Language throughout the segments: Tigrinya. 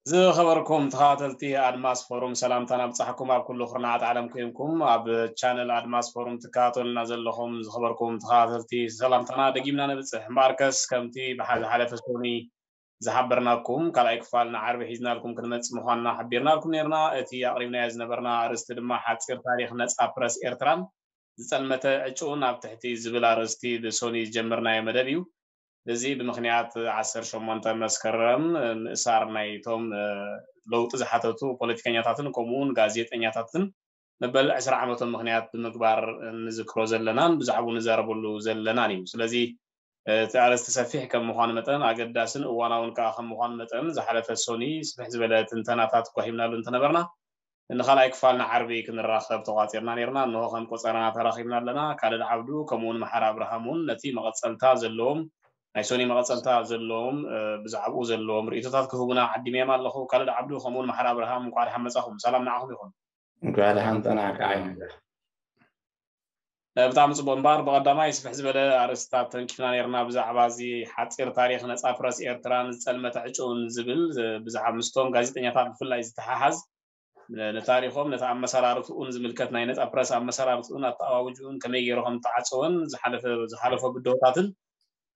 ዝኸበርኩም ተኸታተልቲ ኣድማስ ፎሩም፣ ሰላምታና ብጻሕኩም ኣብ ኩሉ ኩርናዓት ዓለም ኮይንኩም ኣብ ቻነል ኣድማስ ፎሩም ትከታተሉና ዘለኹም ዝኸበርኩም ተኸታተልቲ፣ ሰላምታና ደጊምና ነብጽሕ። እምበኣርከስ ከምቲ ብሓ-፣ ዝሓለፈ ሰሙኒ ዝሓበርናኩም ካልኣይ ክፋል ንዓርቢ ሒዝናልኩም ክንመጽእ ምዃንና ሓቢርናልኩም ነርና። እቲ ኣቕሪብናዮ ዝነበርና ኣርእስቲ ድማ ሓጺር ታሪኽ ነጻ ፕረስ ኤርትራን ዝጸልመተ ዕጩን ኣብ ትሕቲ ዝብል ኣርእስቲ ብሰኑይ ዝጀመርናዮ መደብ እዩ። እዚ ብምኽንያት ዓሰርተ ሸሞንተ መስከረም ምእሳር ናይቶም ለውጢ ዝሓተቱ ፖለቲከኛታትን ከምኡ እውን ጋዜጠኛታትን መበል ዕስራ ዓመቶም ምኽንያት ብምግባር ንዝክሮ ዘለናን ብዛዕባኡ ንዛረበሉ ዘለናን እዩ። ስለዚ እቲ ኣርእስቲ ሰፊሕ ከም ምዃኑ መጠን ኣገዳስን እዋናውን ከዓ ከም ምዃኑ መጠን ዝሓለፈ ሰኑይ ስፍሕ ዝበለ ትንተናታት ጓሂምናሉ እንተነበርና ንኻልኣይ ክፋል ንዓርቢ ክንራኸብ ተቋጺርና ነርና። እንሆ ከም ቆጸራና ተራኺብና ኣለና። ካልድ ዓብዱ ከምኡውን መሓር ኣብርሃም እውን ነቲ መቐጸልታ ዘለዎም ናይ ሰኑይ መቐጸልታ ዘለዎም ብዛዕባኡ ዘለዎም ርእይቶታት ክህቡና ዓዲሞም ኣለኹ። ካልድ ዓብዱ ከምኡውን መሓር ኣብርሃም እንኳዕ ደሓን መጻኹም። ሰላም ንዓኹም ይኹን። እንኳዕ ደሓን ጸናሕካ ዓይነጋ። ብጣዕሚ ጽቡቅ። እምበኣር ብቐዳማይ ስፍሕ ዝበለ ኣርእስትታት ተንኪፍና ነርና ብዛዕባ እዚ ሓጺር ታሪኽ ነጻ ፕረስ ኤርትራን ዝጸልመተ ዕጩን ዝብል ብዛዕባ ምስቶም ጋዜጠኛታት ብፍላይ ዝተሓሓዝ ንታሪኾም ነቲ ኣመሰራርትኡን ዝምልከት ናይ ነጻ ፕረስ ኣመሰራርትኡን ኣተኣዋውጅኡን ከመይ ገይሩ ከም ተዓጸወን ዝሓለፈ ዝሓለፎ ብድሆታትን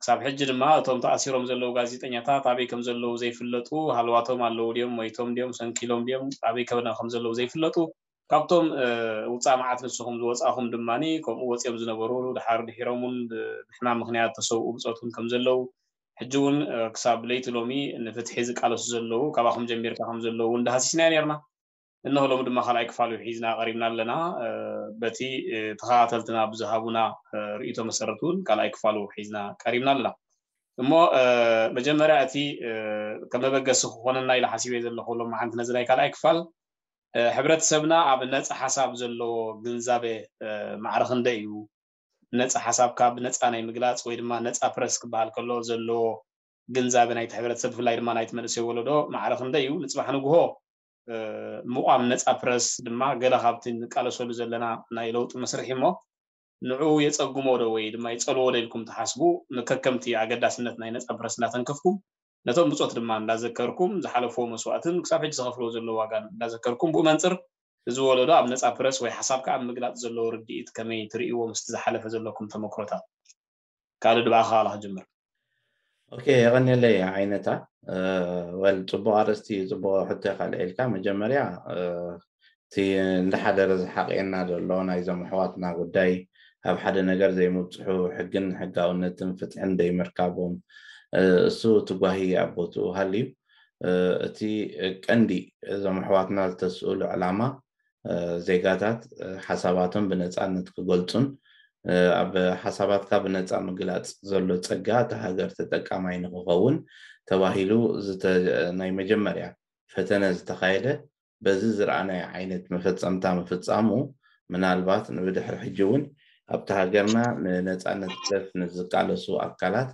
ክሳብ ሕጂ ድማ እቶም ተኣሲሮም ዘለዉ ጋዜጠኛታት ኣበይ ከም ዘለዉ ዘይፍለጡ ሃልዋቶም ኣለዉ ድዮም ሞይቶም ድዮም ሰንኪሎም ድዮም ኣበይ ከበና ከም ዘለዉ ዘይፍለጡ ካብቶም ውፃእ መዓት ንስኹም ዝወፃኹም ድማ ከምኡ ወፂኦም ዝነበሩ ድሓር ድሒሮም እውን ብሕማም ምክንያት ተሰውኡ ብፆት እውን ከም ዘለዉ ሕጂ እውን ክሳብ ለይቲ ሎሚ ንፍትሒ ዝቃለሱ ዘለዉ ካባኹም ጀሚርካ ከም ዘለዉ እውን ዳሃሲስና ነርና። እንሆ ሎሚ ድማ ካልኣይ ክፋሉ ሒዝና ቀሪብና ኣለና። በቲ ተኸታተልትና ብዝሃቡና ርእይቶ መሰረት እውን ካልኣይ ክፋሉ ሒዝና ቀሪብና ኣለና። እሞ መጀመርያ እቲ ከም መበገሲ ክኾነና ኢለ ሓሲበ ዘለኹ ሎም መዓንቲ ነዚ ናይ ካልኣይ ክፋል ሕብረተሰብና ኣብ ነፃ ሓሳብ ዘለዎ ግንዛበ ማዕረ ክንደይ እዩ? ነፃ ሓሳብካ ብነፃ ናይ ምግላፅ ወይ ድማ ነፃ ፕረስ ክበሃል ከሎ ዘለዎ ግንዛበ ናይቲ ሕብረተሰብ ብፍላይ ድማ ናይቲ መንእሰይ ወለዶ ማዕረ ክንደይ እዩ? ንፅባሕ ንግሆ ምቋም ነፃ ፕረስ ድማ ገለ ካብቲ ንቃለሰሉ ዘለና ናይ ለውጢ መስርሒ እሞ ንዕኡ የፀግሞ ዶ ወይ ድማ ይፀልዎ ዶ ኢልኩም ትሓስቡ? ከከምቲ ኣገዳስነት ናይ ነፃ ፕረስ እንዳተንከፍኩም ነቶም ብፆት ድማ እንዳዘከርኩም ዝሓለፍዎ መስዋእትን ክሳብ ሕጂ ዝኸፍልዎ ዘለዎ ዋጋን እንዳዘከርኩም ብኡ መንፅር እዚ ወለዶ ኣብ ነፃ ፕረስ ወይ ሓሳብካ ኣብ ምግላፅ ዘለዎ ርድኢት ከመይ ትርእይዎ ምስቲ ዝሓለፈ ዘለኩም ተመክሮታት? ካልድ ብኣኻ ካላ ክጅምር። ኦኬ የቐንየለይ ዓይነታ። ወል ፅቡቕ ኣርእስቲ እዩ፣ ፅቡቕ ሕቶ ኢኻ ኣልዒልካ። መጀመርያ እቲ እንዳሓደረ ዝሓቕየና ዘሎ ናይዞም ኣሕዋትና ጉዳይ ኣብ ሓደ ነገር ዘይምብፅሑ ሕግን ሕጋውነትን ፍትሕን ዘይምርካቦም እሱ እቲ ጓሂ ኣብ ቦትኡ ሃልዩ እቲ ቀንዲ እዞም ኣሕዋትና ዝተስእሉ ዕላማ ዜጋታት ሓሳባቶም ብነፃነት ክገልፁን ኣብ ሓሳባትካ ብነፃ ምግላፅ ዘሎ ፀጋ እቲ ሃገር ተጠቃማይ ንክኸውን ተባሂሉ ናይ መጀመርያ ፈተነ ዝተኻየደ በዚ ዝረኣናዮ ዓይነት መፈፀምታ ምፍፃሙ ምናልባት ንብድሕሪ ሕጂ እውን ኣብቲ ሃገርና ንነፃነት ፕረስ ንዝቃለሱ ኣካላት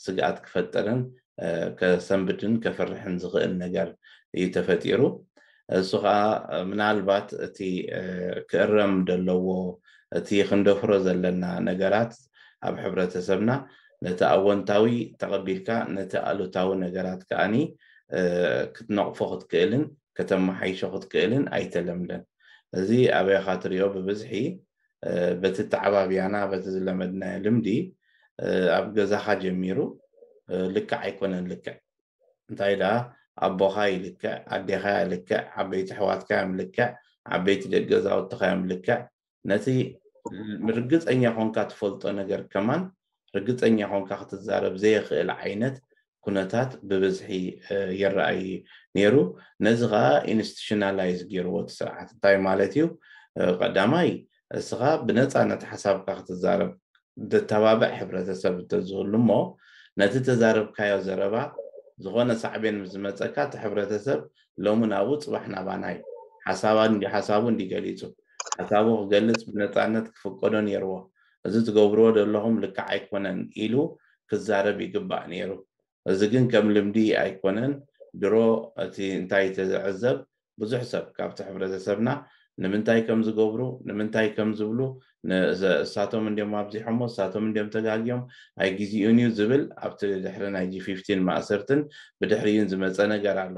ስግኣት ክፈጥርን ከሰንብድን ከፍርሕን ዝኽእል ነገር እዩ ተፈጢሩ። እሱ ከዓ ምናልባት እቲ ክእረም ዘለዎ እቲ ክንደፍሮ ዘለና ነገራት ኣብ ሕብረተሰብና ነቲ ኣወንታዊ ተቐቢልካ ነቲ ኣሉታዊ ነገራት ከዓኒ ክትነቕፎ ክትክእልን ከተመሓይሾ ክትክእልን ኣይተለምደን። እዚ ኣበይኻ ትሪኦ ብብዝሒ በቲ ተዓባብያና በቲ ዝለመድናዮ ልምዲ ኣብ ገዛኻ ጀሚሩ ልክዕ ኣይኮነን። ልክዕ እንታይ ደኣ ኣቦኻ ይልክዕ፣ ኣዴኻ እያ ልክዕ፣ ዓበይቲ ኣሕዋትካ እዮም ልክዕ፣ ዓበይቲ ደቂ ገዛውትኻ እዮም ልክዕ። ነቲ ርግፀኛ ኮንካ ትፈልጦ ነገር ከማን ርግፀኛ ኮንካ ክትዛረብ ዘየኽእል ዓይነት ኩነታት ብብዝሒ ይረኣይ ነይሩ። ነዚ ከዓ ኢንስቲቱሽናላይዝ ገይርዎ እቲ ስርዓት። እንታይ ማለት እዩ? ቀዳማይ እስኻ ብነፃነት ሓሳብካ ክትዛረብ ዘተባብዕ ሕብረተሰብ እንተዝህሉ እሞ ነቲ ተዛረብካዮ ዘረባ ዝኾነ ሳዕቤን ምስ ዝመፀካ እቲ ሕብረተሰብ ሎሚ ናብኡ ፅባሕ ናባናይ ሓሳቡ እንዲ ገሊፁ ሓሳቡ ክገልፅ ብነፃነት ክፍቀዶ ነይርዎ። እዚ ትገብርዎ ዘለኹም ልክዕ ኣይኮነን ኢሉ ክዛረብ ይግባእ ነይሩ። እዚ ግን ከም ልምዲ ኣይኮነን። ድሮ እቲ እንታይ ተዝዕዘብ ብዙሕ ሰብ ካብቲ ሕብረተሰብና ንምንታይ ከም ዝገብሩ ንምንታይ ከም ዝብሉ እሳቶም እንዲም ኣብዚሖሞ እሳቶም እንዲም ተጋግዮም ኣይግዜኡን እዩ ዝብል ኣብቲ ድሕሪ ናይ ጂ ፊፍቲን ማእሰርትን ብድሕሪኡን ዝመፀ ነገር ኣሎ።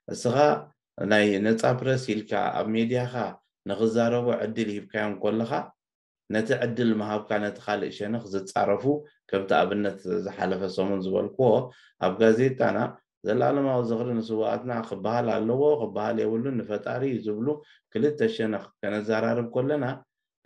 እስኻ ናይ ነፃ ፕረስ ኢልካ ኣብ ሜድያኻ ንኽዛረቡ ዕድል ሂብካዮም ከለኻ፣ ነቲ ዕድል ምሃብካ ነቲ ካልእ ሸነኽ ዝፃረፉ፣ ከምቲ ኣብነት ዝሓለፈ ሰሙን ዝበልክዎ ኣብ ጋዜጣና፣ ዘላለማዊ ዝኽሪ ንስውኣትና ክበሃል ኣለዎ ክበሃል የብሉን፣ ንፈጣሪ እዩ ዝብሉ ክልተ ሸነኽ ከነዘራርብ ከለና፣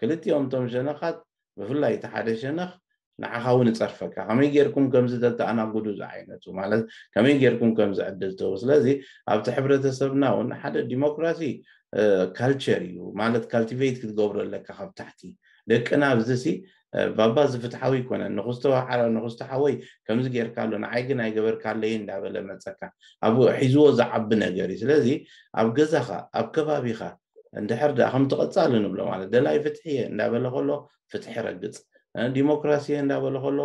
ክልቲኦም እቶም ሸነኻት፣ ብፍላይ እቲ ሓደ ሸነኽ ንዓኻ እውን ይፀርፈካ። ከመይ ጌርኩም ከምዚ ተተኣናጉዱ ዝዓይነቱ፣ ማለት ከመይ ጌርኩም ከምዚ ዕድል ትህቡ? ስለዚ ኣብቲ ሕብረተሰብና እውን ሓደ ዲሞክራሲ ካልቸር እዩ፣ ማለት ካልቲቬት ክትገብሮ ኣለካ ካብ ታሕቲ። ደቅና ኣብዚ ሲ ባባ እዚ ፍትሓዊ ኣይኮነን፣ ንክስቶ ሓወይ ከምዚ ጌርካ ኣሎ፣ ንዓይ ግን ኣይገበርካለይ እንዳበለ መፀካ፣ ኣብ ሒዝዎ ዝዓቢ ነገር እዩ። ስለዚ ኣብ ገዛኻ፣ ኣብ ከባቢኻ፣ እንድሕር ደኣ ከምቲ ቀጻሊ ንብሎ፣ ማለት ደላይ ፍትሒ እየ እንዳበለ ከሎ ፍትሒ ረግጽ፣ ዲሞክራሲ እየ እንዳበለ ከሎ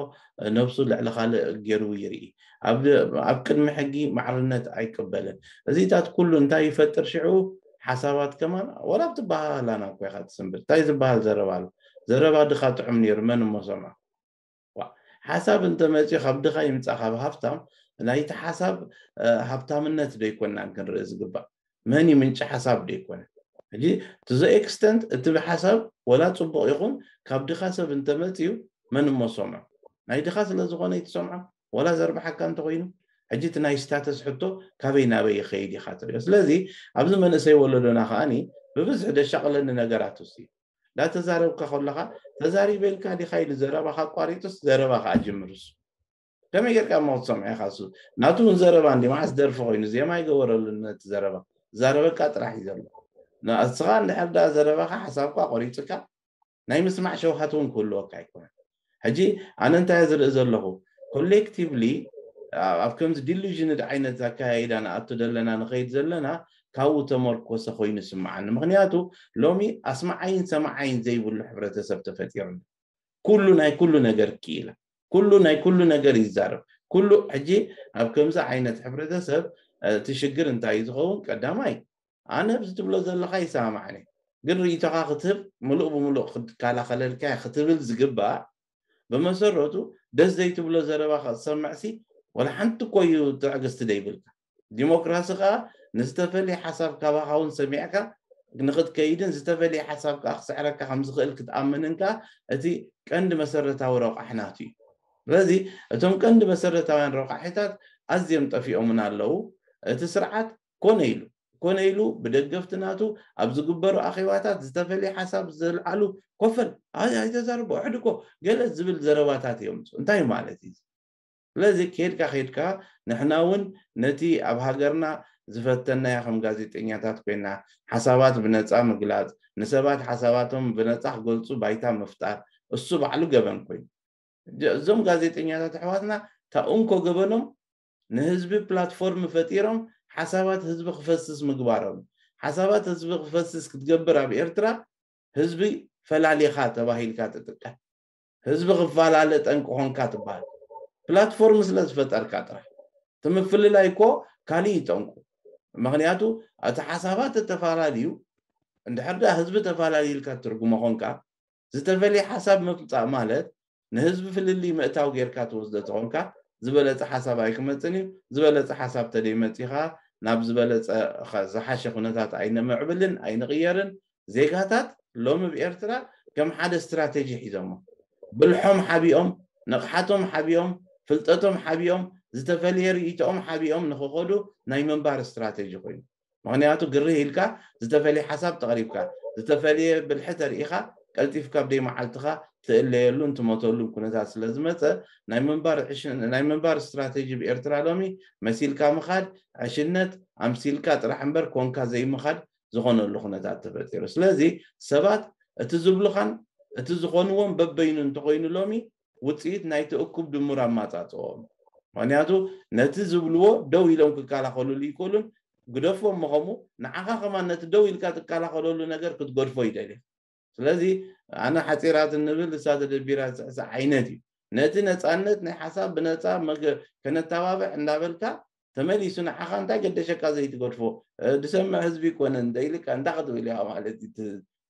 ነብሱ ልዕሊ ካልእ ገይሩ ይርኢ፣ ኣብ ቅድሚ ሕጊ ማዕርነት ኣይቅበልን። እዚታት ኩሉ እንታይ ይፈጥር ሽዑ? ሓሳባት ከማን፣ ወላ ኣብቲ ባህላና እኮ ኢኻ ትስንብር። እንታይ ዝበሃል ዘረባ ኣሎ? ዘረባ ድኻ ጥዑም ነይሩ፣ መን እሞ ሰምዖ? ሓሳብ እንተመፅኡ ካብ ድኻ ይምፃእ ካብ ሃፍታም፣ ናይቲ ሓሳብ ሃብታምነት ዶ ይኮንናን ክንርኢ ዝግባእ? መን እዩ ምንጪ ሓሳብ ዶ ይኮነ? ሕጂ to the extent እቲ ሓሳብ ወላ ፅቡቕ ይኹን ካብ ድኻ ሰብ እንተመፅኡ፣ መን እሞ ሰምዖ? ናይ ድኻ ስለዝኾነ ይትሰምዖ፣ ወላ ዘርብሓካ እንተኮይኑ። ሕጂ እቲ ናይ ስታተስ ሕቶ ካበይ ናበይ ይኸይድ ኢኻ ትሪኦ። ስለዚ ኣብዚ መንእሰይ ወለዶና ከዓኒ ብብዝሒ ደሻቕለኒ ነገራት ውስ እንዳተዛረብካ ከለኻ፣ ተዛሪበ ኢልካ ዲኻ ኢሉ ዘረባኻ ኣቋሪጡስ ዘረባ ከዓ ጅምርሱ። ከመይ ጌርካ እሞ ክትሰምዖ ኢኻ? እሱ ናቱ እውን ዘረባ እንዲ መዓስ ደርፊ ኮይኑ ዜማ ይገበረሉ ነቲ ዘረባ። ዛረበካ ጥራሕ እዩ ዘሎ። ንስኻ እንድሕር ደኣ ዘረባኻ ሓሳብካ ቆሪፅካ ናይ ምስማዕ ሸውሃት እውን ክህልወካ ኣይኮነን። ሕጂ ኣነ እንታይ ዝርኢ ዘለኹ፣ ኮሌክቲቭሊ ኣብ ከምዚ ዲሉዥንድ ዓይነት ኣካያይዳ ንኣቱ ዘለና ንኸይድ ዘለና ካብኡ ተመርኮሰ ኮይኑ ይስምዓኒ። ምክንያቱ ሎሚ ኣስማዓይን ሰማዓይን ዘይብሉ ሕብረተሰብ ተፈጢሩ ኣሎ። ኩሉ ናይ ኩሉ ነገር ክኢላ፣ ኩሉ ናይ ኩሉ ነገር ይዛረብ። ኩሉ ሕጂ ኣብ ከምዚ ዓይነት ሕብረተሰብ እቲ ሽግር እንታይ እዩ ዝኸውን? ቀዳማይ ኣነ ብዚ ትብሎ ዘለኻ ይሰማማዕኒ፣ ግን ርእይቶኻ ክትህብ ምሉእ ብምሉእ ክትከላኸለልካ ክትብል ዝግባእ፣ ብመሰረቱ ደስ ዘይትብሎ ዘረባ ክትሰምዕሲ ወላ ሓንቲ እኮ እዩ ትዕግስቲ ዘይብልካ። ዲሞክራሲ ከዓ ንዝተፈለየ ሓሳብ ካባኻ እውን ሰሚዕካ ንክትከይድን ዝተፈለየ ሓሳብ ከዓ ክስዕረካ ከም ዝኽእል ክትኣምንን ከዓ እቲ ቀንዲ መሰረታዊ ረቋሕ ናቱ እዩ። ስለዚ እቶም ቀንዲ መሰረታውያን ረቋሒታት ኣዝዮም ጠፊኦምና ኣለዉ። እቲ ስርዓት ኮነ ኢሉ ኮነ ኢሉ ብደገፍቲ ናቱ ኣብ ዝግበሩ ኣኼባታት ዝተፈለየ ሓሳብ ዘልዓሉ ኮፈል ኣይተዛርቦ ሕድኮ ገለ ዝብል ዘረባታት እዮም። እንታይ ማለት እዩ? ስለዚ ከድካ ከድካ ንሕና እውን ነቲ ኣብ ሃገርና ዝፈተናዮ ከም ጋዜጠኛታት ኮይና ሓሳባት ብነፃ ምግላፅ፣ ንሰባት ሓሳባቶም ብነፃ ክገልፁ ባይታ ምፍጣር እሱ ባዕሉ ገበን ኮይኑ፣ እዞም ጋዜጠኛታት ኣሕዋትና እታ እንኮ ገበኖም ንህዝቢ ፕላትፎርም ፈጢሮም ሓሳባት ህዝቢ ክፈስስ ምግባሮም። ሓሳባት ህዝቢ ክፈስስ ክትገብር ኣብ ኤርትራ ህዝቢ ፈላሊኻ ተባሂልካ ትጥቀም። ህዝቢ ክፈላለ ጠንቂ ኾንካ ትበሃል። ፕላትፎርም ስለ ዝፈጠርካ ጥራሕ። እቲ ምፍልላይ እኮ ካሊእ እዩ ጠንቁ። ምክንያቱ እቲ ሓሳባት ተፈላለዩ እንድሕር ደኣ ህዝቢ ተፈላለዩ ኢልካ ትርጉሞ ኾንካ ዝተፈለየ ሓሳብ ምምፃእ ማለት ንህዝቢ ፍልልይ ምእታው ጌርካ ትወስዶ ተኾንካ ዝበለፀ ሓሳብ ኣይክመፅን እዩ። ዝበለፀ ሓሳብ ተደይመፂኻ ናብ ዝበለፀ ዝሓሸ ኩነታት ኣይነምዕብልን ኣይንቕየርን። ዜጋታት ሎሚ ብኤርትራ ከም ሓደ ስትራቴጂ ሒዞሞ ብልሖም ሓቢኦም ንቕሓቶም ሓቢኦም ፍልጠቶም ሓቢኦም ዝተፈለየ ርእይቶኦም ሓቢኦም ንክኸዱ ናይ ምንባር ስትራቴጂ ኮይኑ። ምክንያቱ ግርህ ኢልካ ዝተፈለየ ሓሳብ ተቕሪብካ ዝተፈለየ ብልሒ ተርኢኻ ቀልጢፍካ ኣብ ደይ መዓልትኻ ትእለየሉን ትሞተሉን ኩነታት ስለ ዝመፀ ናይ ምንባር ዕሽ- ናይ ምንባር ስትራቴጂ ብኤርትራ ሎሚ መሲልካ ምኻድ ዕሽነት ኣምሲልካ ጥራሕ እምበር ኮንካ ዘይምኻድ ዝኾነሉ ኩነታት ተፈጢሩ። ስለዚ ሰባት እቲ ዝብሉኻን እቲ ዝኾንዎም በበይኑ እንተኾይኑ ሎሚ ውፅኢት ናይቲ እኩብ ድሙር ኣማፃፅኦም። ምክንያቱ ነቲ ዝብልዎ ደው ኢሎም ክከላኸሉሉ ይክእሉን ግደፎም ምኸሙ ንዓኻ ከማን ነቲ ደው ኢልካ ትከላኸለሉ ነገር ክትገድፎ ይደልዩ። ስለዚ ኣነ ሓፂራት እንብል እሳ ተደቢራ ዝስዕስዕ ዓይነት እዩ። ነቲ ነፃነት ናይ ሓሳብ ብነፃ መገ- ከነተባብዕ እንዳበልካ ተመሊሱ ንዓኻ እንታይ ገደሸካ ዘይትገድፎ? እ፣ ድሰምዕ ህዝቢ ይኮነን እንተ ኢልካ እንታይ ክትብል ኢኻ ማለት እዩ? እቲ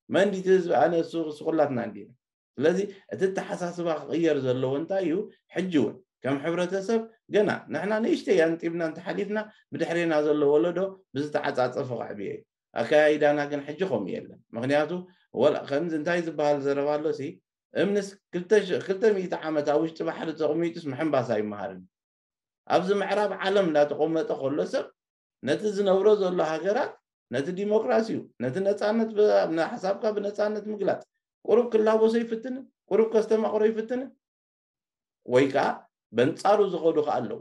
መንዲቲ ህዝቢ ኣነ እሱ እሱ ኩላትና እንዲና። ስለዚ እቲ ኣተሓሳስባ ክቕየር ዘለዎ እንታይ እዩ? ሕጂ እውን ከም ሕብረተሰብ ገና ንሕና ንእሽተይ ኣንጢብና እንተሓሊፍና ብድሕሬና ዘሎ ወለዶ ብዝተዓፃፀፈ ክዕብየ እዩ። ኣከያይዳና ግን ሕጂ ከምኡ የለን። ምክንያቱ ወላ ከምዚ እንታይ ዝበሃል ዘረባ ኣሎ ሲ እምንስ ክልተ ሚእቲ ዓመት ኣብ ውሽጢ ባሕሪ ተቕሚጡስ ምሕንባስ ኣይመሃርን። ኣብዚ ምዕራብ ዓለም እንዳተቐመጠ ከሎ ሰብ ነቲ ዝነብሮ ዘሎ ሃገራት ነቲ ዲሞክራሲዩ ነቲ ነፃነት ሓሳብካ ብነፃነት ምግላፅ ቁሩብ ክላበሶ ይፍትንን ቁሩብ ከስተማቕሮ ይፍትንን ወይ ከዓ በንፃሩ ዝኸዱ ከዓ ኣለዉ።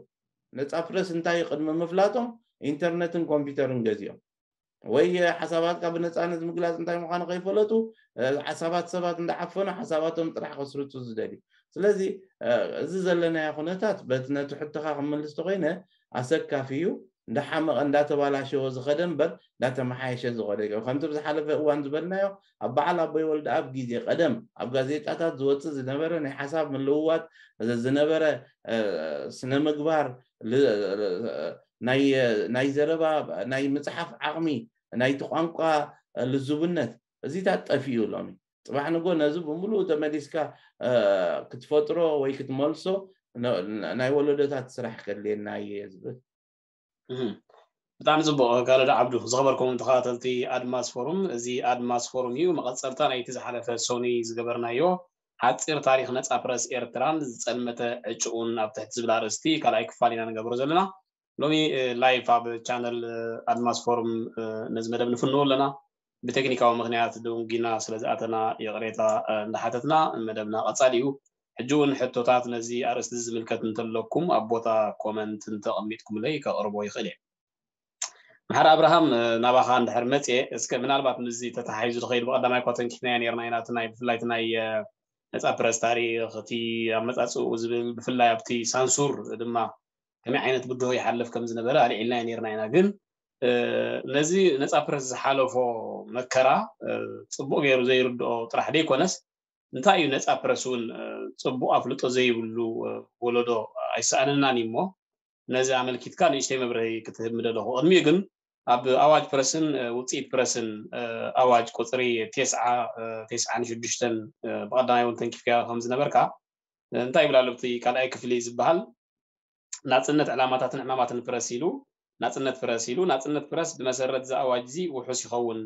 ነፃ ፕረስ እንታይ ቅድሚ ምፍላጦም ኢንተርነትን ኮምፒውተርን ገዚኦም ወይ ሓሳባትካ ብነፃነት ምግላፅ እንታይ ምዃኑ ከይፈለጡ ሓሳባት ሰባት እንዳዓፈኑ ሓሳባቶም ጥራሕ ከስርፁ ዝደልዩ። ስለዚ እዚ ዘለናዮ ኩነታት በቲ ነቲ ሕቶኻ ክምልስ ተኮይነ ኣሰካፊ እዩ። እንዳሓመቐ እንዳተባላሸወ ዝኸደ እምበር እንዳተመሓየሸ ዝኸደ ከምቲ ብዝሓለፈ እዋን ዝበልናዮ ኣብ በዓል ኣቦይ ወልደኣብ ግዜ ቀደም ኣብ ጋዜጣታት ዝወፅእ ዝነበረ ናይ ሓሳብ ምልውዋጥ ዝነበረ ስነ ምግባር ናይ ዘረባ ናይ ምፅሓፍ ዓቕሚ ናይቲ ቋንቋ ልዙብነት እዚታት ጠፊኡ ሎሚ ፅባሕ ንጎ ነዚ ብምሉእ ተመሊስካ ክትፈጥሮ ወይ ክትመልሶ ናይ ወለዶታት ስራሕ ከድልየና እየ ዝብል። ብጣዕሚ ፅቡቕ። ካልድ ዓብዱ ዝኸበርኩም ተኸታተልቲ ኣድማስ ፎሩም፣ እዚ ኣድማስ ፎሩም እዩ መቐፀልታ ናይቲ ዝሓለፈ ሰኑይ ዝገበርናዮ ሓፂር ታሪክ ነፃ ፕረስ ኤርትራን ዝፀልመተ ዕጭኡን ኣብ ትሕቲ ዝብል ኣርእስቲ ካልኣይ ክፋል ኢና ንገብሮ ዘለና። ሎሚ ላይፍ ኣብ ቻነል ኣድማስ ፎሩም ነዚ መደብ ንፍንዎ ኣለና። ብቴክኒካዊ ምክንያት ድንጊና ስለ ዝኣተና ይቕሬታ እንዳሓተትና መደብና ቀጻሊ እዩ። ሕጂ እውን ሕቶታት ነዚ ኣርእስቲ ዝምልከት እንተለኩም ኣብ ቦታ ኮመንት እንተቐሚጥኩምለይ ከቕርቦ ይኽእል እየ። መሓር ኣብርሃም ናባኻ እንድሕር መፅየ እስከ ምናልባት ምስዚ ተተሓሒዙ ዝኸይድ ብቐዳማይ እኳ ተንኪፍናዮ ነርና ኢና እቲ ናይ ብፍላይ እቲ ናይ ነፃ ፕረስ ታሪክ እቲ ኣመፃፅኡ ዝብል ብፍላይ ኣብቲ ሳንሱር ድማ ከመይ ዓይነት ብድሆ ይሓልፍ ከም ዝነበረ ኣልዒልናዮ ነርና ኢና ግን ነዚ ነፃ ፕረስ ዝሓለፎ መከራ ፅቡቅ ገይሩ ዘይርድኦ ጥራሕ ደይኮነስ እንታይ እዩ ነፃ ፕረስ እውን ፅቡቅ ኣፍልጦ ዘይብሉ ወለዶ ኣይሰኣነናን እዩ እሞ ነዚ ኣመልኪትካ ንእሽተይ መብርሂ ክትህብ ምደለኹ ቅድሚኡ ግን ኣብ ኣዋጅ ፕረስን ውፅኢት ፕረስን ኣዋጅ ቁፅሪ ቴስዓ ቴስዓን ሽዱሽተን ብቀዳማይ እውን ተንኪፍካ ከም ዝነበርካ እንታይ ይብል ኣሎ እቲ ካልኣይ ክፍሊ ዝበሃል ናፅነት ዕላማታትን ዕማማትን ፕረስ ኢሉ ናፅነት ፕረስ ኢሉ ናፅነት ፕረስ ብመሰረት እዚ ኣዋጅ እዚ ውሑስ ይኸውን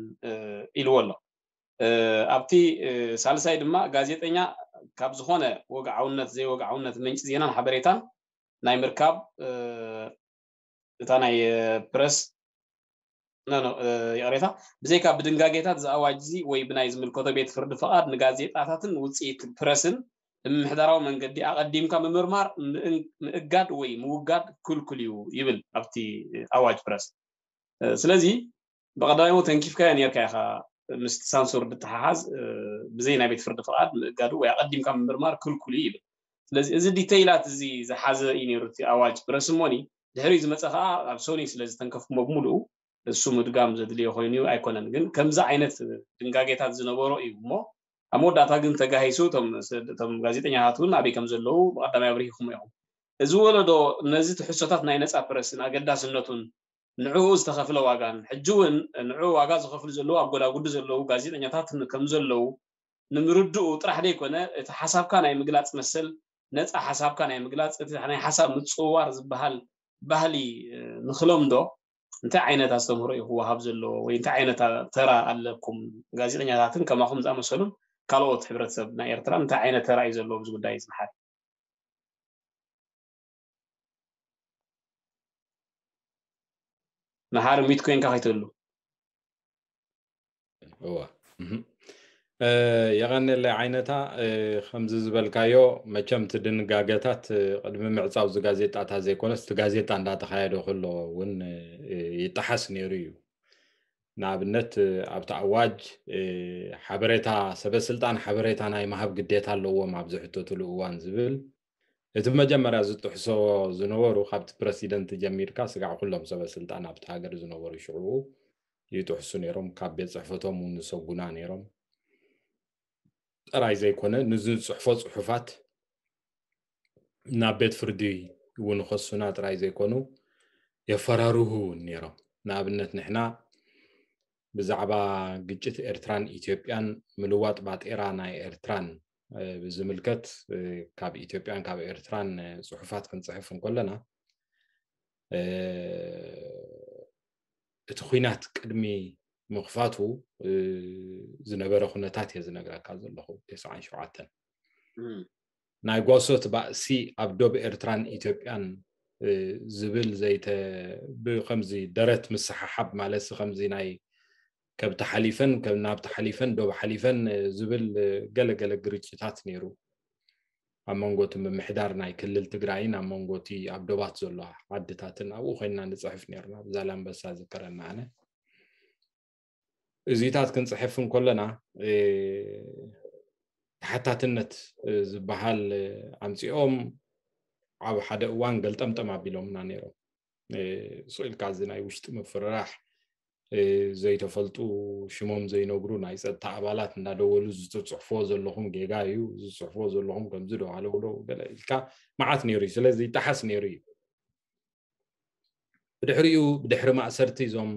ኢልዎ ኣሎ ኣብቲ ሳልሳይ ድማ ጋዜጠኛ ካብ ዝኾነ ወግዓውነት ዘይወግዓውነት ምንጭ ዜናን ሓበሬታን ናይ ምርካብ እታ ናይ ፕረስ ይቕሬታ ብዘይካ ብድንጋጌታት ዝኣዋጅ እዚ ወይ ብናይ ዝምልከቶ ቤት ፍርዲ ፍቓድ ንጋዜጣታትን ውፅኢት ፕረስን ብምምሕዳራዊ መንገዲ ኣቐዲምካ ምምርማር ምእጋድ ወይ ምውጋድ ክልኩል እዩ ይብል ኣብቲ ኣዋጅ ፕረስ ስለዚ ብቐዳማይ ተንኪፍካዮ ነርካ ኢኻ ምስቲ ሳንሱር ብተሓሓዝ ብዘይ ናይ ቤት ፍርዲ ፍቓድ ምእጋዱ ወይ ኣቐዲምካ ምምርማር ክልኩል እዩ ይብል ስለዚ እዚ ዲተይላት እዚ ዝሓዘ እዩ ነይሩ እቲ ኣዋጅ ፕረስ እሞኒ ድሕሪ ዝመፀ ከዓ ኣብ ሶኒ ስለ ዝተንከፍኩሞ ብምሉኡ እሱ ምድጋም ዘድልዮ ኮይኑ ኣይኮነን ግን ከምዚ ዓይነት ድንጋጌታት ዝነበሮ እዩ እሞ ኣብ መወዳእታ ግን ተጋሂሱ እቶም ጋዜጠኛታት እውን ኣበይ ከም ዘለዉ ብቀዳማይ ኣብሪሂኹም ኢኹም እዚ ወለዶ ነዚ ትሕሶታት ናይ ነፃ ፕረስን ኣገዳስነቱን ንዕኡ ዝተኸፍለ ዋጋን ሕጂ እውን ንዕኡ ዋጋ ዝኸፍሉ ዘለዉ ኣብ ጎዳጉዲ ዘለዉ ጋዜጠኛታት ከም ዘለዉ ንምርድኡ ጥራሕ ዘይኮነ እቲ ሓሳብካ ናይ ምግላፅ መሰል ነፃ ሓሳብካ ናይ ምግላፅ እቲ ናይ ሓሳብ ምፅውዋር ዝበሃል ባህሊ ንክለምዶ እንታይ ዓይነት ኣስተምህሮ እዩ ክወሃብ ዘለዎ ወይ እንታይ ዓይነት ተራ ኣለኩም ጋዜጠኛታትን ከማኹም ዝኣመሰሉን ካልኦት ሕብረተሰብ ናይ ኤርትራ እንታይ ዓይነት ተራ እዩ ዘለዎ ኣብዚ ጉዳይ እዚ መሓሪ መሓሪ ሚት ኮይንካ ከይትህሉ እዋ የቐንየለይ ዓይነታ ከምዚ ዝበልካዮ መቸም እቲ ድንጋገታት ቅድሚ ምዕፃው እዚ ጋዜጣታት ዘይኮነስ እቲ ጋዜጣ እንዳተኻየደ ከሎ እውን ይጠሓስ ነይሩ እዩ ንኣብነት ኣብቲ ኣዋጅ ሓበሬታ ሰበስልጣን ሓበሬታ ናይ ምሃብ ግዴታ ኣለዎም ኣብ ዝሕተትሉ እዋን ዝብል እቲ መጀመርያ ዝጥሕሶ ዝነበሩ ካብቲ ፕረሲደንት ጀሚርካ ስጋዕ ኩሎም ሰበስልጣን ኣብቲ ሃገር ዝነበሩ ሽዕኡ ይጥሕሱ ነይሮም ካብ ቤት ፅሕፈቶም እውን ዝሰጉና ነይሮም ጥራይ ዘይኮነ ንዝፅሕፎ ፅሑፋት ናብ ቤት ፍርዲ እውን ከሱና ጥራይ ዘይኮኑ የፈራርሁ እውን ነይሮም ንኣብነት ንሕና ብዛዕባ ግጭት ኤርትራን ኢትዮጵያን ምልዋጥ ባጤራ ናይ ኤርትራን ብዝምልከት ካብ ኢትዮጵያን ካብ ኤርትራን ጽሑፋት ክንጽሕፍ እንከለና እቲ ኲናት ቅድሚ ምኽፋቱ ዝነበረ ኩነታት እየ ዝነግረካ ዘለኹ። ተስዓን ሸውዓተን ናይ ጓሶት ባእሲ ኣብ ዶብ ኤርትራን ኢትዮጵያን ዝብል ዘይተ ብከምዚ ደረት ምስሓሓብ ማለት ከምዚ ናይ ከብቲ ሓሊፈን ናብ ተሓሊፈን ዶብ ሓሊፈን ዝብል ገለገለ ግርጭታት ነይሩ። ኣብ መንጎ እቲ ምምሕዳር ናይ ክልል ትግራይን ኣብ መንጎ እቲ ኣብ ዶባት ዘሎ ዓድታትን ኣብኡ ኮይንና ንፅሕፍ ነርና። ብዛላምበሳ ዝከረና ኣነ እዚታት ክንፅሕፍ እንከለና ተሓታትነት ዝበሃል ኣምፂኦም ኣብ ሓደ እዋን ገልጠምጠም ኣቢሎምና ነይሮም። ስኢልካ እዚ ናይ ውሽጢ ምፍርራሕ ዘይተፈልጡ ሽሞም ዘይነግሩ ናይ ፀጥታ ኣባላት እንዳደወሉ ዝፅሕፍዎ ዘለኹም ጌጋ እዩ፣ ዝፅሕፍዎ ዘለኹም ከምዚ ዶ ኣለውሎ ገለ ኢልካ መዓት ነይሩ እዩ። ስለዚ ይጠሓስ ነይሩ እዩ። ብድሕሪኡ ብድሕሪ ማእሰርቲ እዞም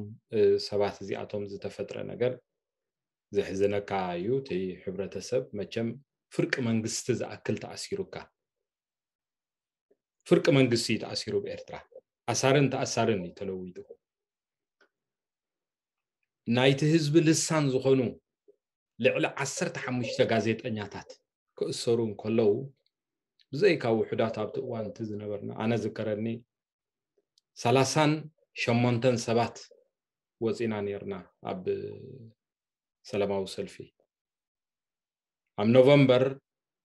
ሰባት እዚኣቶም ዝተፈጥረ ነገር ዘሕዝነካ እዩ። እቲ ሕብረተሰብ መቸም ፍርቂ መንግስቲ ዝኣክል ተኣሲሩካ ፍርቂ መንግስቲ ተኣሲሩ ብኤርትራ ኣሳርን ተኣሳርን እዩ ተለዊጡ። ናይቲ ህዝቢ ልሳን ዝኾኑ ልዕሊ ዓሰርተ ሓሙሽተ ጋዜጠኛታት ክእሰሩ እንከለዉ ብዘይካ ውሑዳት ኣብቲ እዋን እቲ ዝነበርና ኣነ ዝከረኒ ሰላሳን ሸሞንተን ሰባት ወፂና ነርና ኣብ ሰላማዊ ሰልፊ ኣብ ኖቨምበር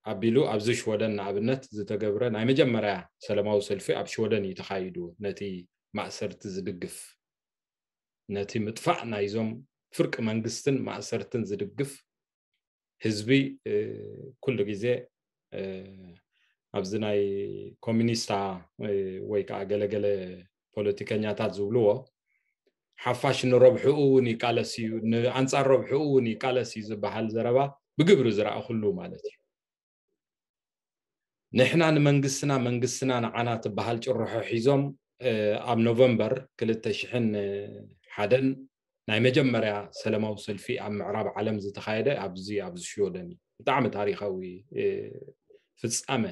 ኣቢሉ ኣብዚ ሽወደን ንኣብነት ዝተገብረ ናይ መጀመርያ ሰላማዊ ሰልፊ ኣብ ሽወደን እዩ ተኻይዱ። ነቲ ማእሰርቲ ዝድግፍ ነቲ ምጥፋእ ናይዞም ፍርቂ መንግስትን ማእሰርትን ዝድግፍ ህዝቢ ኩሉ ግዜ ኣብዚ ናይ ኮሚኒስታ ወይ ከዓ ገለገለ ፖለቲከኛታት ዝብልዎ ሓፋሽ ንረብሕኡ እውን ይቃለስ እዩ፣ ንኣንፃር ረብሕኡ እውን ይቃለስ እዩ ዝበሃል ዘረባ ብግብሪ ዝረኣኹሉ ማለት እዩ። ንሕና ንመንግስትና መንግስትና ንዓና ትበሃል ጭርሖ ሒዞም ኣብ ኖቨምበር ክልተ ሽሕን ሓደን ናይ መጀመርያ ሰላማዊ ሰልፊ ኣብ ምዕራብ ዓለም ዝተኻየደ ኣብዚ ኣብዚ ሽወደን እዩ። ብጣዕሚ ታሪኻዊ ፍጻመ፣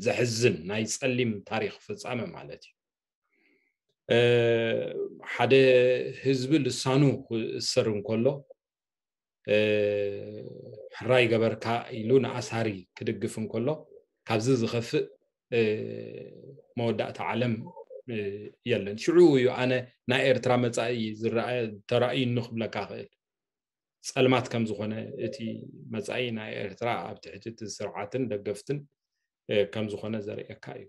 ዘሕዝን ናይ ጸሊም ታሪኽ ፍጻመ ማለት እዩ። ሓደ ህዝቢ ልሳኑ ክእሰር እንከሎ ሕራይ ገበርካ ኢሉ ንኣሳሪ ክድግፍ እንከሎ ካብዚ ዝኸፍእ መወዳእታ ዓለም የለን። ሽዑ እዩ ኣነ ናይ ኤርትራ መጻኢ ተራእዩኒ ክብለካ ክእል። ጸልማት ከም ዝኾነ እቲ መጻኢ ናይ ኤርትራ ኣብ ትሕቲ እቲ ስርዓትን ደገፍትን ከም ዝኾነ ዘርእየካ እዩ።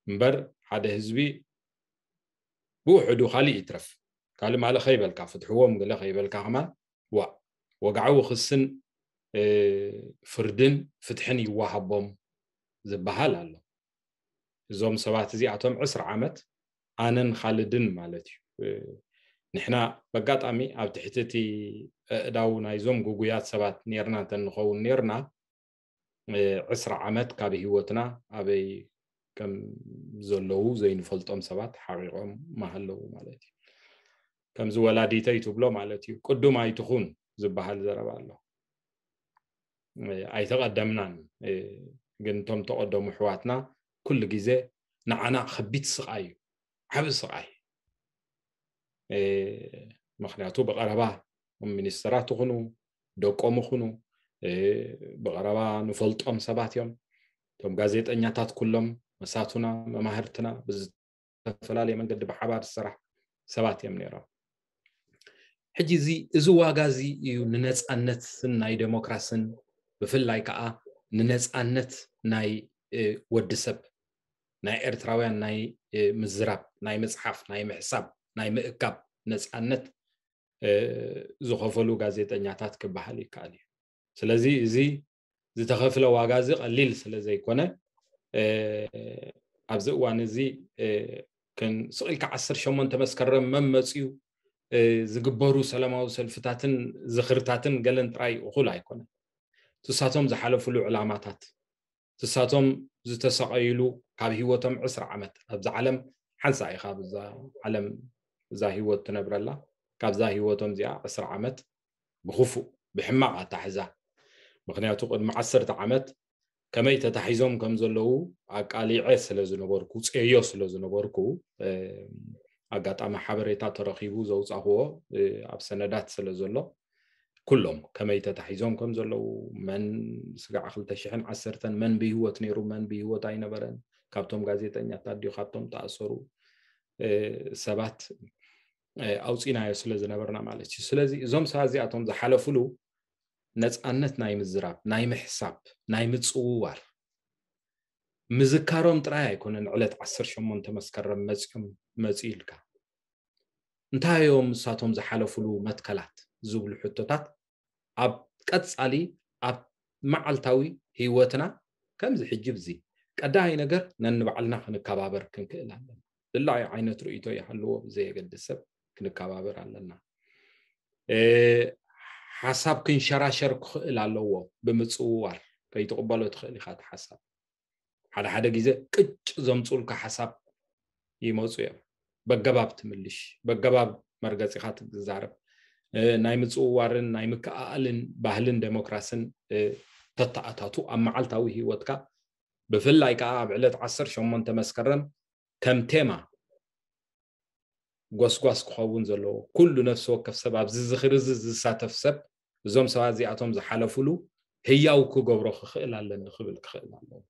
እምበር ሓደ ህዝቢ ብውሕዱ ካልእ ይትረፍ ካልእ ማለ ከይበልካ ፍትሕዎም ገለ ከይበልካ ከማን ዋእ ወግዓዊ ክስን ፍርድን ፍትሕን ይወሃቦም ዝበሃል ኣሎ። እዞም ሰባት እዚኣቶም ዕስራ ዓመት ኣነን ካልድን ማለት እዩ። ንሕና በጋጣሚ ኣብ ትሕቲ እቲ ኣእዳው ናይዞም ጉጉያት ሰባት ኔርና እንተንኸውን ኔርና ዕስራ ዓመት ካብ ህይወትና ኣበይ ከም ዘለዉ ዘይንፈልጦም ሰባት ሓቂቆም ማሃለዉ ማለት እዩ። ከምዚ ወላዲተይ ትብሎ ማለት እዩ። ቅዱም ኣይትኹን ዝበሃል ዘረባ ኣሎ። ኣይተቐደምናን ግን እቶም ተቐደሙ ኣሕዋትና ኩሉ ግዜ ንዓና ከቢድ ስቓይ እዩ፣ ዓቢ ስቓይ። ምኽንያቱ ብቐረባ ሚኒስተራት ይኹኑ ደቆም ይኹኑ ብቐረባ ንፈልጦም ሰባት እዮም። እቶም ጋዜጠኛታት ኩሎም መሳቱና መማህርትና ብዝተፈላለየ መንገዲ ብሓባር ዝሰራሕ ሰባት እዮም ነይሮም። ሕጂ እዚ እዚ ዋጋ እዚ እዩ ንነፃነትን ናይ ዴሞክራስን ብፍላይ ከዓ ንነፃነት ናይ ወዲ ሰብ ናይ ኤርትራውያን ናይ ምዝራብ ናይ ምፅሓፍ ናይ ምሕሳብ ናይ ምእካብ ነፃነት ዝኸፈሉ ጋዜጠኛታት ክበሃል ይከኣል እዩ። ስለዚ እዚ ዝተኸፍለ ዋጋ እዚ ቀሊል ስለ ዘይኮነ ኣብዚ እዋን እዚ ስቕ ኢልካ ዓሰርተ ሸሞንተ መስከረም መን መፅዩ ዝግበሩ ሰላማዊ ሰልፍታትን ዝኽርታትን ገለን ጥራይ እኹል ኣይኮነን። ንሳቶም ዝሓለፉሉ ዕላማታት ንሳቶም ዝተሰቐይሉ ካብ ህይወቶም ዕስራ ዓመት ኣብዛ ዓለም ሓንሳ ኢኻ ኣብዛ ዓለም እዛ ህይወት ትነብረላ ካብዛ ህይወቶም እዚኣ ዕስራ ዓመት ብክፉእ ብሕማቕ ኣታሕዛ ምክንያቱ ቅድሚ ዓሰርተ ዓመት ከመይ ተታሒዞም ከም ዘለዉ ኣቃሊዐ ስለ ዝነበርኩ፣ ጸዮ ስለ ዝነበርኩ፣ ኣጋጣሚ ሓበሬታ ተረኺቡ ዘውጻኽዎ ኣብ ሰነዳት ስለ ዘሎ፣ ኩሎም ከመይ ተታሒዞም ከም ዘለዉ፣ መን ስጋዕ ክልተ ሽሕን ዓሰርተን መን ብህይወት ነይሩ፣ መን ብህይወት ኣይነበረን፣ ካብቶም ጋዜጠኛታት ድዩ፣ ካብቶም ተኣሰሩ ሰባት ኣውፂናዮ ስለ ዝነበርና ማለት እዩ። ስለዚ እዞም ሰባት እዚኣቶም ዝሓለፉሉ ነፃነት ናይ ምዝራብ፣ ናይ ምሕሳብ፣ ናይ ምፅውዋር ምዝካሮም ጥራይ ኣይኮነን። ዕለት ዓሰርተ ሸሞንተ መስከረም መፂኦም መፂኡ ኢልካ እንታይ እዮም ንሳቶም ዝሓለፉሉ መትከላት ዝብሉ ሕቶታት ኣብ ቀፃሊ ኣብ መዓልታዊ ህይወትና ከምዚ ሕጂ ብዚ ቀዳይ ነገር ነንባዕልና ክንከባበር ክንክእል ኣለና። ዝላዩ ዓይነት ርእይቶ ይሃልዎ ብዘየገድስ ሰብ ክንከባበር ኣለና። ሓሳብ ክንሸራሸር ክኽእል ኣለዎ። ብምፅውዋር ከይትቕበሎ ትኽእል ኢኻ እቲ ሓሳብ። ሓደ ሓደ ግዜ ቅጭ ዘምፅኡልካ ሓሳብ ይመፁ እዮም። በገባብ ትምልሽ፣ በገባብ መርገፂኻ ትዛረብ። ናይ ምፅውዋርን ናይ ምክኣኣልን ባህልን ዴሞክራስን ተተኣታቱ ኣብ መዓልታዊ ህይወትካ፣ ብፍላይ ከዓ ኣብ ዕለት ዓሰርተ ሸሞንተ መስከረም ከም ቴማ ጎስጓስ ክኸውን ዘለዎ፣ ኩሉ ነፍሲ ወከፍ ሰብ ኣብዚ ዝኽሪ እዚ ዝሳተፍ ሰብ እዞም ሰባት እዚኣቶም ዝሓለፉሉ ህያው ክገብሮ ክኽእል ኣለኒ ክብል ክኽእል ኣለዎ።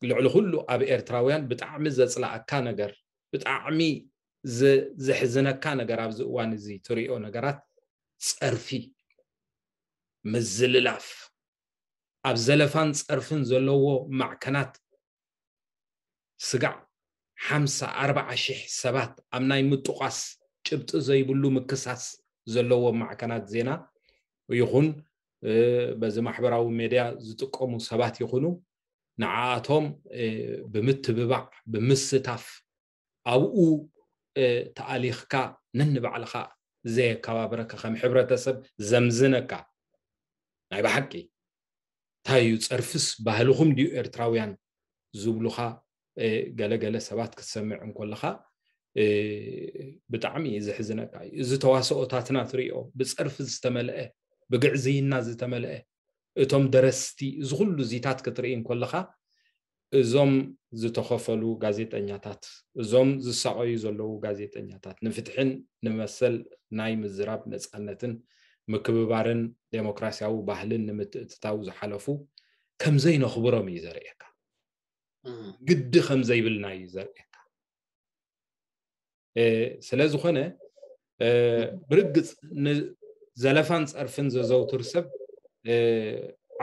ልዕሊ ኩሉ ኣብ ኤርትራውያን ብጣዕሚ ዘጽላኣካ ነገር፣ ብጣዕሚ ዘሕዝነካ ነገር ኣብዚ እዋን እዚ ትሪኦ ነገራት ጸርፊ፣ ምዝልላፍ፣ ኣብ ዘለፋን ጸርፍን ዘለዎ ማዕከናት ስጋዕ ሓምሳ ኣርባዓ ሽሕ ሰባት ኣብ ናይ ምጥቋስ ጭብጢ ዘይብሉ ምክሳስ ዘለዎ ማዕከናት ዜና ይኹን በዚ ማሕበራዊ ሜድያ ዝጥቀሙ ሰባት ይኹኑ ንዓኣቶም ብምትብባዕ ብምስታፍ ኣብኡ ተኣሊኽካ ነንባዕልኻ ዘየከባብረካ ከም ሕብረተሰብ ዘምዝነካ ናይ ብሓቂ እንታይ እዩ ጸርፍስ ባህልኹም ድዩ ኤርትራውያን ዝብሉኻ ገለገለ ሰባት ክትሰምዕ እንኮለኻ ብጣዕሚ እዩ ዘሕዝነካ እዩ። እዚ ተዋስኦታትና ትሪኦ ብጸርፊ ዝተመልአ ብግዕዝይና ዝተመልአ እቶም ደረስቲ እዚ ኩሉ ዚታት ክትርኢ እንኮለኻ እዞም ዝተኸፈሉ ጋዜጠኛታት እዞም ዝሳቐዩ ዘለዉ ጋዜጠኛታት ንፍትሕን ንመሰል ናይ ምዝራብ ነፃነትን ምክብባርን ዴሞክራሲያዊ ባህልን ንምትእትታው ዝሓለፉ ከምዘይነኽብሮም እዩ ዘርእየካ። ግዲ ከምዘይብልና እዩ ዘርእየካ። ስለ ዝኾነ ብርግፅ ንዘለፋን ፀርፍን ዘዘውትር ሰብ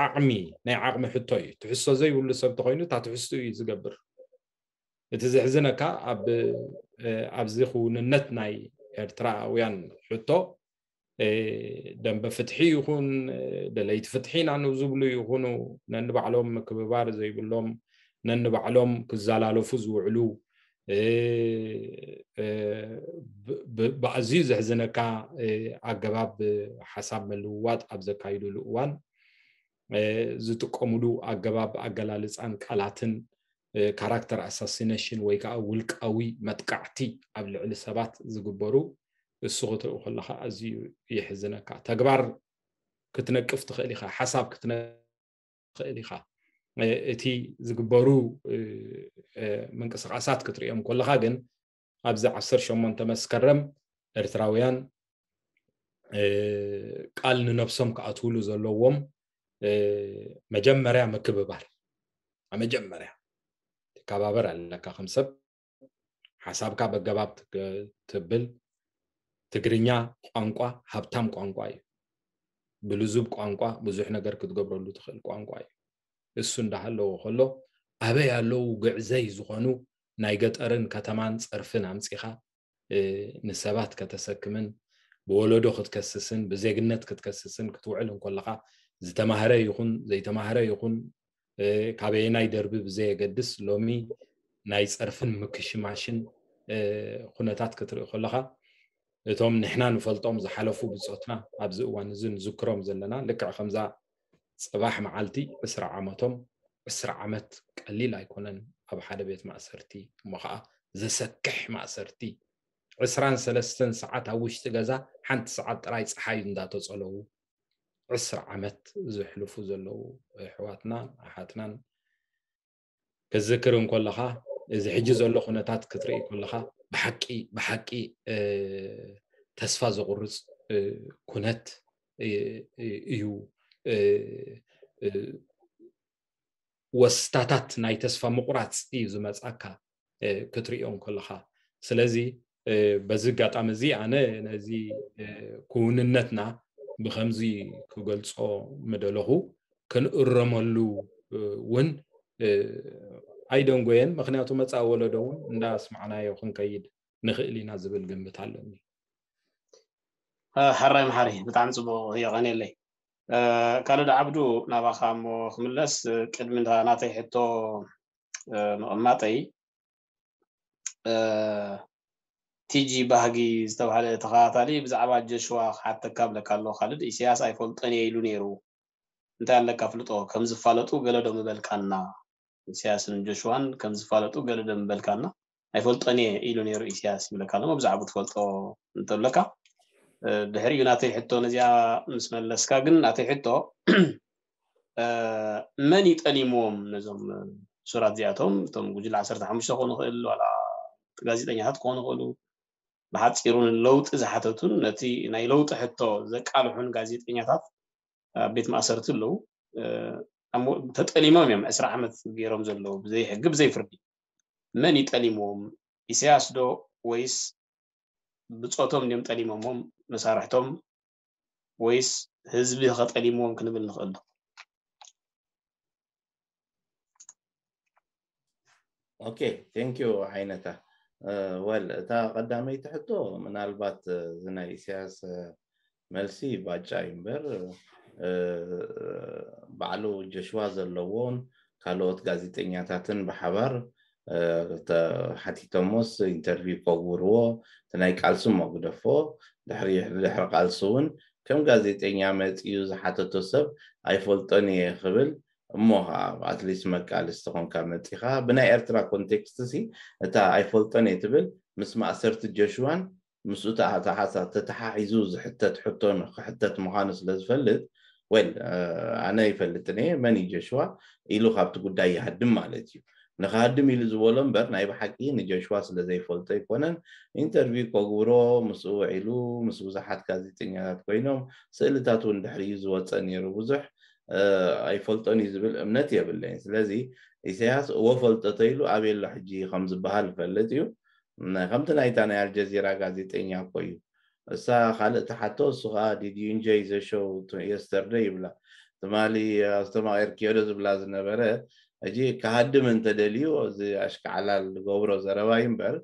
ዓቕሚ ናይ ዓቕሚ ሕቶ እዩ። ትሕዝቶ ዘይብሉ ሰብ ተኮይኑ እታ ትሕዝቱ እዩ ዝገብር። እቲ ዘሕዝነካ ኣብዚ ክውንነት ናይ ኤርትራውያን ሕቶ ደንበ ፍትሒ ይኹን ደለይቲ ፍትሒ ኢና ንዝብሉ ይኹኑ ነንባዕሎም ምክብባር ዘይብሎም ነንባዕሎም ክዘላለፉ ዝውዕሉ ብኣዝዩ ዘሕዝነካ ኣገባብ ሓሳብ ምልውዋጥ ኣብ ዘካይዱሉ እዋን ዝጥቀሙሉ ኣገባብ ኣገላልፃን ቃላትን ካራክተር ኣሳሲነሽን ወይ ከዓ ውልቃዊ መጥቃዕቲ ኣብ ልዕሊ ሰባት ዝግበሩ እሱ ክትርኢ ከለካ ኣዝዩ የሕዝነካ። ተግባር ክትነቅፍ ትኽእል ኢኻ፣ ሓሳብ ክትነቅፍ ትኽእል ኢኻ። እቲ ዝግበሩ ምንቅስቃሳት ክትሪኦም ከለካ ግን ኣብዚ ዓሰርተ ሸሞንተ መስከረም ኤርትራውያን ቃል ንነብሶም ክኣትውሉ ዘለዎም መጀመርያ ምክብባር መጀመርያ ትከባበር ኣለካ ከም ሰብ ሓሳብካ በገባብ ትብል ትግርኛ ቋንቋ ሃብታም ቋንቋ እዩ ብልዙብ ቋንቋ ብዙሕ ነገር ክትገብረሉ ትኽእል ቋንቋ እዩ እሱ እንዳሃለዎ ከሎ ኣበይ ኣለዉ ግዕዘይ ዝኾኑ ናይ ገጠርን ከተማን ጸርፍን ኣምጺኻ ንሰባት ከተሰክምን ብወለዶ ክትከስስን ብዜግነት ክትከስስን ክትውዕል እንኮለኻ ዝተማህረ ይኹን ዘይተማህረ ይኹን ካበየናይ ደርቢ ብዘየገድስ ሎሚ ናይ ጸርፍን ምክሽማሽን ኩነታት ክትርኢ ከለኻ እቶም ንሕና ንፈልጦም ዝሓለፉ ብጾትና ኣብዚ እዋን እዚ ንዝክሮም ዘለና ልክዕ ከምዛ ጽባሕ መዓልቲ ዕስራ ዓመቶም ዕስራ ዓመት ቀሊል ኣይኮነን ኣብ ሓደ ቤት ማእሰርቲ እሞ ከዓ ዘሰክሕ ማእሰርቲ ዕስራን ሰለስተን ሰዓት ኣብ ውሽጢ ገዛ ሓንቲ ሰዓት ጥራይ ፀሓይ እንዳተፀለዉ ዕስራ ዓመት ዘሕልፉ ዘለዉ ኣሕዋትናን ኣሓትናን ክትዝክር እንከለኻ፣ እዚ ሕጂ ዘሎ ኩነታት ክትርኢ ከለኻ፣ ብሓቂ ብሓቂ ተስፋ ዘቑርፅ ኩነት እዩ። ወስታታት ናይ ተስፋ ምቑራፅ እዩ ዝመፅኣካ ክትሪኦ እንከለኻ። ስለዚ በዚ ኣጋጣሚ እዚ ኣነ ነዚ ክውንነትና ብከምዚ ክገልፆ ምደለኹ፣ ክንእረመሉ እውን ኣይደንጎየን። ምክንያቱ መፃኢ ወለዶ እውን እንዳስማዕናዮ ክንከይድ ንኽእል ኢና ዝብል ግምት ኣለኒ። ሕራይ መሓሪ፣ ብጣዕሚ ፅቡቕ፣ የቐንየለይ። ካልድ ዓብዱ፣ ናባኻ እሞ ክምለስ፣ ቅድሚ ናተይ ሕቶ ምቕማጠይ፣ ቲጂ ባህጊ ዝተባህለ ተኸታታሊ ብዛዕባ ጀሽዋ ክሓተካ ብለካ ኣሎ። ካልድ፣ ኢሳያስ ኣይፈልጦን እየ ኢሉ ነይሩ። እንታይ ኣለካ ፍልጦ? ከም ዝፋለጡ ገለ ዶ ምበልካና? ኢሳያስን ጆሽዋን ከም ዝፋለጡ ገለ ዶ ምበልካና? ኣይፈልጦን እየ ኢሉ ነይሩ ኢሳያስ ይብለካ ኣሎ። ብዛዕባ ትፈልጦ እንተለካ፣ ድሕሪኡ ናተይ ሕቶ ነዚኣ ምስ መለስካ ግን፣ ናተይ ሕቶ መን ይጠሊምዎም ነዞም ሱራት እዚኣቶም? እቶም ጉጅለ ዓሰርተ ሓሙሽተ ክኾኑ ይኽእል፣ ዋላ ጋዜጠኛታት ክኾኑ ይኽእሉ። ብሓፂሩ ንለውጢ ዝሓተቱን ነቲ ናይ ለውጢ ሕቶ ዘቃልሑን ጋዜጠኛታት ኣብ ቤት ማእሰርቲ ኣለዉ። ተጠሊሞም እዮም ዕስራ ዓመት ገይሮም ዘለዉ ብዘይ ሕጊ ብዘይ ፍርዲ። መን ይጠሊምዎም? ኢሳያስ ዶ ወይስ ብፆቶም ድዮም ጠሊሞሞም መሳርሕቶም፣ ወይስ ህዝቢ ከጠሊምዎም ክንብል ንኽእል ዶ? ኦኬ፣ ቴንክ ዩ ዓይነታ። ወል፣ እታ ቀዳመይቲ ሕቶ ምናልባት እዚ ናይ ኢሳያስ መልሲ ባጫ እዩ እምበር፣ ባዕሉ ጀሽዋ ዘለዎን ካልኦት ጋዜጠኛታትን ብሓባር ሓቲቶሞስ ኢንተርቪው ከግብርዎ፣ እቲ ናይ ቃልሲ እሞ ግደፎ፣ ድሕሪ ድሕሪ ቃልሲ እውን ከም ጋዜጠኛ መፂኡ ዝሓተቶ ሰብ ኣይፈልጦን እየ ክብል፣ እሞ ከዓ ኣትሊስት መቃልስቲ ኮንካ መፂኻ። ብናይ ኤርትራ ኮንቴክስት ሲ እታ ኣይፈልጦን እየ ትብል ምስ ማእሰርቲ ጀሽዋን ምስኡ ተተሓሒዙ ዝሕተት ሕቶ ክሕተት ምዃኑ ስለ ዝፈልጥ፣ ወል፣ ኣነ ይፈልጥን እየ መን እዩ ጀሽዋ ኢሉ ካብቲ ጉዳይ ይሃድም ማለት እዩ። ንክሃድም ኢሉ ዝበሎ እምበር ናይ ብሓቂ ንጀሽዋ ስለ ዘይፈልጦ ኣይኮነን። ኢንተርቪው ከግብሮ ምስኡ ውዒሉ ምስ ብዙሓት ጋዜጠኛታት ኮይኖም ስእልታት እውን ድሕሪኡ ዝወፀ ነይሩ። ብዙሕ ኣይፈልጦን እዩ ዝብል እምነት የብለይን። ስለዚ ኢሳያስ እወ ፈልጦ ተይሉ ኣበይ ኣሎ ሕጂ ከም ዝበሃል ይፈልጥ እዩ። ከምቲ ናይታ ናይ ኣልጀዚራ ጋዜጠኛ እኮ እዩ። እሳ ካልእ ትሓቶ፣ እሱ ከዓ did you enjoy the show yesterday ይብላ። ትማሊ ኣስተማቒርክዮ ዶ ዝብላ ዝነበረ። ሕጂ ክሃድም እንተደልዩ እዚ ኣሽካዕላል ዝገብሮ ዘረባ እዩ እምበር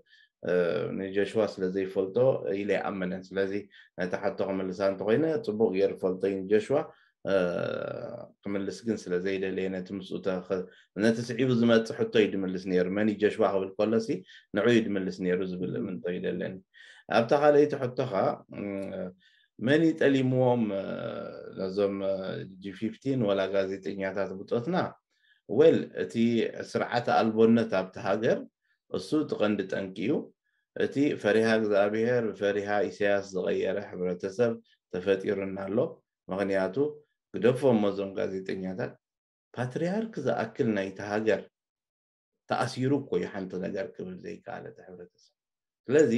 ንጀሽዋ ስለ ዘይፈልጦ ኢለ ይኣምንን። ስለዚ ነቲ ሕቶ ክምልሳ እንተኮይነ፣ ፅቡቅ ገይሩ ፈልጦ እዩ ንጀሽዋ። ክምልስ ግን ስለ ዘይደለየ፣ ነቲ ምስኡ ነቲ ስዒቡ ዝመፅእ ሕቶ እዩ ድምልስ ነይሩ። መን እዩ ጀሽዋ ክብል ከሎሲ ንዑ እዩ ድምልስ ነይሩ ዝብል እምንቶ ይደለኒ። ኣብታ ካልኣይቲ ሕቶኻ መን ይጠሊምዎም ነዞም ጂ ፊፍቲን ወላ ጋዜጠኛታት ብፆትና? ወል፣ እቲ ስርዓተ ኣልቦነት ኣብቲ ሃገር እሱ እቲ ቀንዲ ጠንቂ እዩ። እቲ ፈሪሃ እግዚኣብሔር ብፈሪሃ ኢሳያስ ዝቐየረ ሕብረተሰብ ተፈጢሩና ኣሎ። ምኽንያቱ ግደፎም እዞም ጋዜጠኛታት፣ ፓትርያርክ ዝኣክል ናይቲ ሃገር ተኣሲሩ እኮ እዩ ሓንቲ ነገር ክብል ዘይከኣለ እቲ ሕብረተሰብ። ስለዚ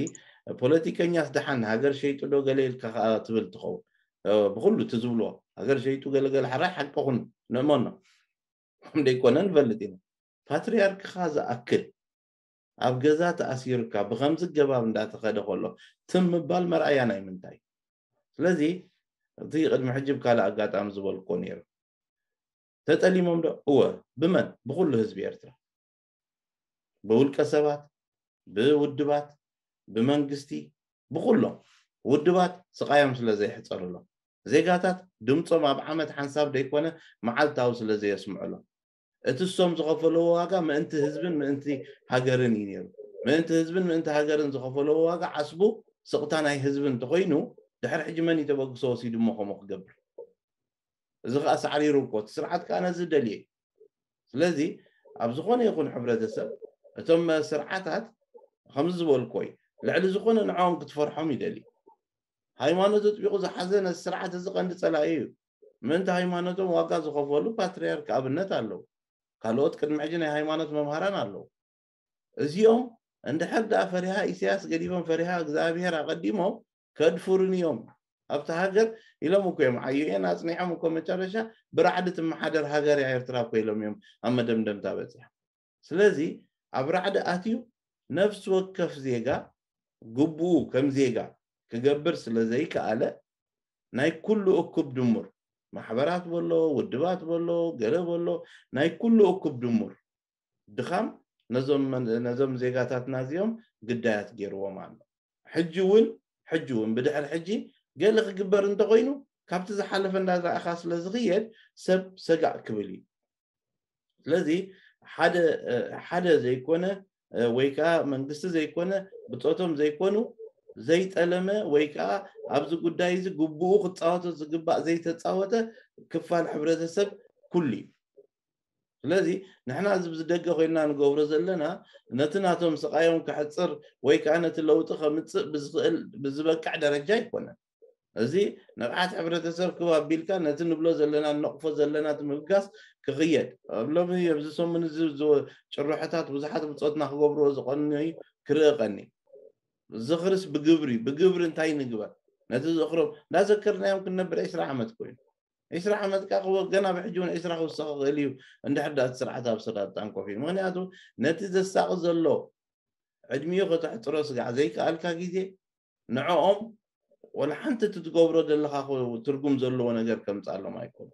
ፖለቲከኛስ ደሓን ሃገር ሸይጡ ዶ ገለ ኢልካ ከዓ ትብል ትኸውን። ብኩሉ እቲ ዝብልዎ ሃገር ሸይጡ ገለገለ፣ ሕራይ ሓቂ ኩን ንእመኖ፣ ከም ደይኮነ ንፈልጥ ኢና። ፓትርያርክኻ ዝኣክል ኣብ ገዛ ተኣሲርካ ብከምዚ ገባብ እንዳተኸደ ከሎ ትም ምባል መርኣያ ናይ ምንታይ? ስለዚ እቲ ቅድሚ ሕጂ ብካልእ ኣጋጣሚ ዝበልኮ ነይሩ። ተጠሊሞም ዶ? እወ። ብመን? ብኩሉ ህዝቢ ኤርትራ፣ ብውልቀ ሰባት፣ ብውድባት፣ ብመንግስቲ፣ ብኩሎም ውድባት ስቃዮም ስለ ዘይሕፀርሎም፣ ዜጋታት ድምፆም ኣብ ዓመት ሓንሳብ ደይኮነ መዓልታዊ ስለ ዘየስምዕሎም፣ እቲ እሶም ዝኸፈለዎ ዋጋ ምእንቲ ህዝብን ምእንቲ ሃገርን እዩ ነይሩ። ምእንቲ ህዝብን ምእንቲ ሃገርን ዝኸፈለዎ ዋጋ ዓስቡ ስቕታ ናይ ህዝቢ እንተኮይኑ፣ ድሕሪ ሕጂ መን እዩ ተበግሶ ወሲዱ እሞ ከምኡ ክገብር? እዚ ከዓ ሳዕሪሩ እኮ፣ እቲ ስርዓት ከዓ ነዚ ደልየ። ስለዚ ኣብ ዝኾነ ይኹን ሕብረተሰብ እቶም ስርዓታት ከምዚ ዝበልኮ እዩ፣ ልዕሊ ዝኾነ ንዕኦም ክትፈርሖም ይደሊ። ሃይማኖት ኣጥቢቑ ዝሓዘ ነዚ ስርዓት እዚ ቀንዲ ፀላኢ እዩ። ምእንቲ ሃይማኖቶም ዋጋ ዝኸፈሉ ፓትርያርክ ኣብነት ኣለዉ። ካልኦት ቅድሚ ሕጂ ናይ ሃይማኖት መምሃራን ኣለዉ። እዚኦም እንድሕር ደኣ ፈሪሃ ኢሳያስ ገዲፎም ፈሪሃ እግዚኣብሔር ኣቐዲሞም ከድፍሩን እዮም ኣብቲ ሃገር ኢሎም እኮ እዮም ዓዩ እየን ኣጽኒሖም እኮ መጨረሻ ብራዕዲ ትመሓደር ሃገር እያ ኤርትራ እኮ ኢሎም እዮም ኣብ መደምደምታ በጺሖም። ስለዚ ኣብ ራዕዲ ኣትዩ ነፍሲ ወከፍ ዜጋ ግቡኡ ከም ዜጋ ክገብር ስለ ዘይከኣለ ናይ ኩሉ እኩብ ድሙር ማሕበራት በሎ ውድባት በሎ ገለ በሎ ናይ ኩሉ እኩብ ድሙር ድኻም ነዞም ዜጋታትና እዚኦም ግዳያት ገይርዎም ኣሎ። ሕጂ እውን ሕጂ እውን ብድሕሪ ሕጂ ገለ ክግበር እንተኮይኑ ካብቲ ዝሓለፈ እንዳረኣኻ ስለ ዝኽየድ ሰብ ሰጋእ ክብል እዩ። ስለዚ ሓደ ዘይኮነ ወይ ከዓ መንግስቲ ዘይኮነ ብፆቶም ዘይኮኑ ዘይጠለመ ወይ ከዓ ኣብዚ ጉዳይ እዚ ግቡኡ ክፃወቶ ዝግባእ ዘይተፃወተ ክፋል ሕብረተሰብ ኩሉ እዩ። ስለዚ ንሕና እዚ ብዝደገ ኮይና ንገብሮ ዘለና ነቲ ናቶም ስቃዮም ክሕፅር ወይ ከዓ ነቲ ለውጢ ከምፅእ ብዝኽእል ብዝበቅዕ ደረጃ ኣይኮነን። እዚ ንቕሓት ሕብረተሰብ ክብ ኣቢልካ ነቲ ንብሎ ዘለና ነቕፎ ዘለና ምብጋስ ክኽየድ ኣብ ሎሚ ኣብዚ ሰሙን እዚ ጭርሖታት ብዙሓት ብፆትና ክገብርዎ ዝቐንዩ ክርእ ቀኒ ዝኽርስ ብግብሪ ብግብሪ እንታይ ንግበር ነቲ ዝኽሮም እንዳዘከርናዮም ክንነብር ዕስራ ዓመት ኮይኑ ዕስራ ዓመት ካ ክወ ገና ብሕጂ እውን ዕስራ ክውሰኽ ክእል እዩ እንድሕር ዳኣ እቲ ስርዓት ኣብ ሰላጣን ኮፍ እዩ ምክንያቱ ነቲ ዘሳቂ ዘሎ ዕድሚኡ ከተሕፅሮ ስጋዕ ዘይከኣልካ ግዜ ንዕኦም ወላ ሓንቲ እቲ ትገብሮ ዘለካ ትርጉም ዘለዎ ነገር ከምፃሎም ኣይኮኑ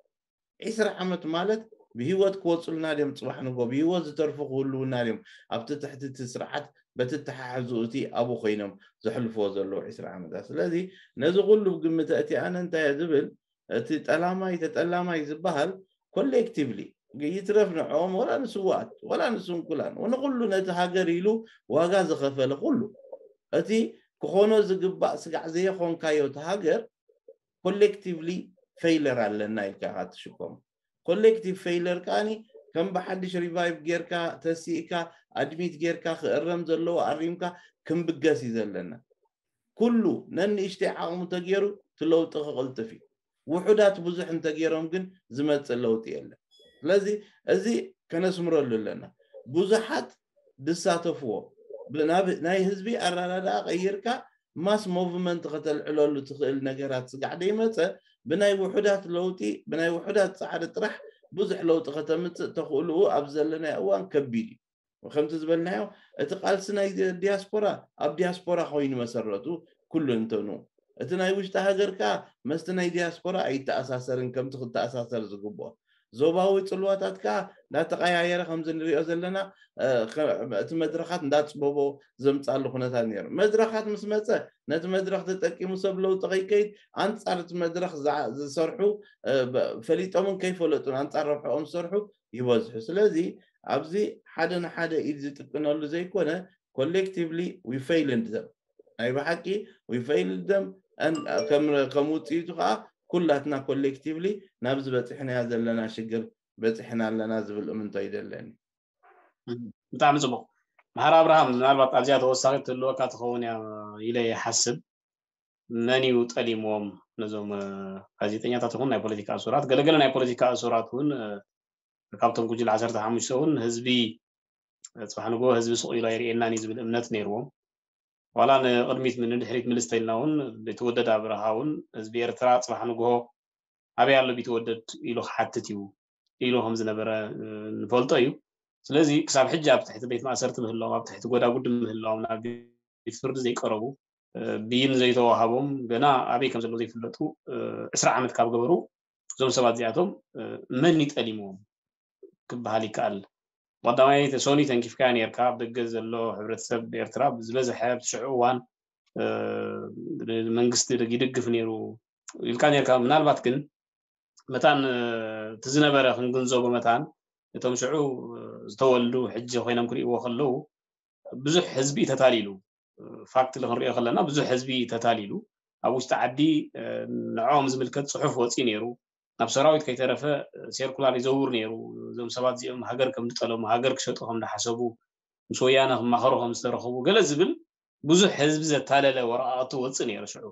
ዕስራ ዓመት ማለት ብህይወት ክወፁልና ድዮም ፅባሕ ንጎ ብህይወት ዝተርፉ ክህልውና ድዮም ኣብቲ ትሕቲ እቲ ስርዓት በቲ ተሓሕዙ እቲ ኣብኡ ኮይኖም ዘሕልፍዎ ዘለዉ ዕስራ ዓመታት ስለዚ ነዚ ኩሉ ግምተ እቲ ኣነ እንታይ ዝብል እቲ ጠላማይ ተጠላማይ ዝበሃል ኮሌክቲቭሊ ይትረፍ ንዕኦም ወላ ንስዋኣት ወላ ንስንኩላን ንኩሉ ነቲ ሃገር ኢሉ ዋጋ ዝኸፈለ ኩሉ እቲ ክኾኖ ዝግባእ ስጋዕ ዘየኾንካዮ እቲ ሃገር ኮሌክቲቭሊ ፌይለር ኣለና ኢልካ ኢኻ ትሽኮም ኮሌክቲቭ ፌይለር ከዓኒ ከም ብሓድሽ ሪቫይቭ ጌርካ ተሲእካ ኣድሚት ጌርካ ክእረም ዘለዎ ኣሪምካ ክንብገስ እዩ ዘለና ኩሉ ነንእሽተይ ዓቕሙ ተገይሩ ትለውጢ ክቕልጥፍ እዩ ውሑዳት ብዙሕ እንተገይሮም ግን ዝመፅእ ለውጢ የለን ስለዚ እዚ ከነስምረሉ ኣለና ብዙሓት ዝሳተፍዎ ናይ ህዝቢ ኣረዳድኣ ቀይርካ ማስ ሞቭመንት ከተልዕለሉ ትኽእል ነገራት ስጋዕ ደይመፀ ብናይ ውሑዳት ለውጢ ብናይ ውሑዳት ፃዕሪ ጥራሕ ብዙሕ ለውጢ ከተምፅእ ተኽእልኡ ኣብ ዘለናይ እዋን ከቢድ እዩ ከምቲ ዝበልናዮ እቲ ቃልሲ ናይ ዲያስፖራ ኣብ ዲያስፖራ ኮይኑ መሰረቱ ኩሉ እንተኑ እቲ ናይ ውሽጢ ሃገር ከዓ መስቲ ናይ ዲያስፖራ ኣይተኣሳሰርን ከምቲ ክተኣሳሰር ዝግብኦ ዞባዊ ፅልዋታት ከዓ እንዳተቀያየረ ከምዚ ንሪኦ ዘለና እቲ መድረካት እንዳፅበቦ ዘምፃሉ ኩነታት ነይሩ መድረካት ምስ መፀ ነቲ መድረክ ተጠቂሙ ሰብ ለውጢ ከይከይድ ኣንፃር እቲ መድረክ ዝሰርሑ ፈሊጦምን ከይፈለጡን ኣንፃር ረብሕኦም ዝሰርሑ ይበዝሑ ስለዚ ኣብዚ ሓደ ንሓደ ኢድ ዝጥቀነሉ ዘይኮነ ኮሌክቲቭሊ ዊ ፌይልድ ዘም ናይ ብሓቂ ዊ ፌይልድ ዘም ከም ውፅኢቱ ከዓ ኩላትና ኮሌክቲቭሊ ናብዚ በፂሕናያ ዘለና ሽግር በፂሕና ኣለና ዝብል እምንቶ ይደለኒ ብጣዕሚ ፅቡቅ መሓር ኣብርሃም ምናልባት ኣብዚኣ ተወሳኺት ትህልወካ ትኸውን እያ ኢለ ይሓስብ መን እዩ ጠሊምዎም ነዞም ጋዜጠኛታት ይኹን ናይ ፖለቲካ እሱራት ገለገለ ናይ ፖለቲካ እሱራት እውን ካብቶም ጉጅል ዓሰርተ ሓሙሽተ እውን ህዝቢ ፅባሕ ንግሆ ህዝቢ ስቕ ኢሉ ኣይርእየናን እዩ ዝብል እምነት ነይርዎም ዋላ ንቅድሚት ንድሕሪት ምልስ ተኢልና እውን ቢተወደድ ኣብርሃ እውን ህዝቢ ኤርትራ ፅባሕ ንግሆ ኣበይ ኣሎ ቢተወደድ ኢሉ ክሓትት እዩ ኢሉ ከም ዝነበረ ንፈልጦ እዩ ስለዚ ክሳብ ሕጂ ኣብ ትሕቲ ቤት ማእሰርቲ ምህላዎም ኣብ ትሕቲ ጎዳጉዲ ምህላዎም ናብ ቤት ፍርዲ ዘይቀረቡ ብይን ዘይተዋሃቦም ገና ኣበይ ከም ዘለዉ ዘይፍለጡ ዕስራ ዓመት ካብ ገበሩ እዞም ሰባት እዚኣቶም መን ይጠሊምዎም ክበሃል ይከኣል ቀዳማይ ሶኒ ተንኪፍካያ ነርካ ኣብ ደገ ዘሎ ሕብረተሰብ ኤርትራ ዝበዝሐ ኣብቲ ሽዑ እዋን መንግስቲ ይድግፍ ነይሩ ኢልካ ነርካ ምናልባት ግን መታን እቲ ዝነበረ ክንግንዘቦ መታን እቶም ሽዑ ዝተወልዱ ሕጂ ኮይኖም ክርእይዎ ከለዉ ብዙሕ ህዝቢ ተታሊሉ ፋክት ክንሪኦ ከለና ብዙሕ ህዝቢ ተታሊሉ ኣብ ውሽጢ ዓዲ ንዕኦም ዝምልከት ፅሑፍ ወፂኡ ነይሩ ናብ ሰራዊት ከይተረፈ ሴርኩላር ይዘውር ነይሩ እዞም ሰባት እዚኦም ሃገር ከም ዝጠለሙ ሃገር ክሸጡ ከም ዝሓሰቡ ምስ ወያነ ክማኸሩ ከም ዝተረኸቡ ገለ ዝብል ብዙሕ ህዝቢ ዘታለለ ወረቃቅቲ ወፅእ ነይሩ ሽዑ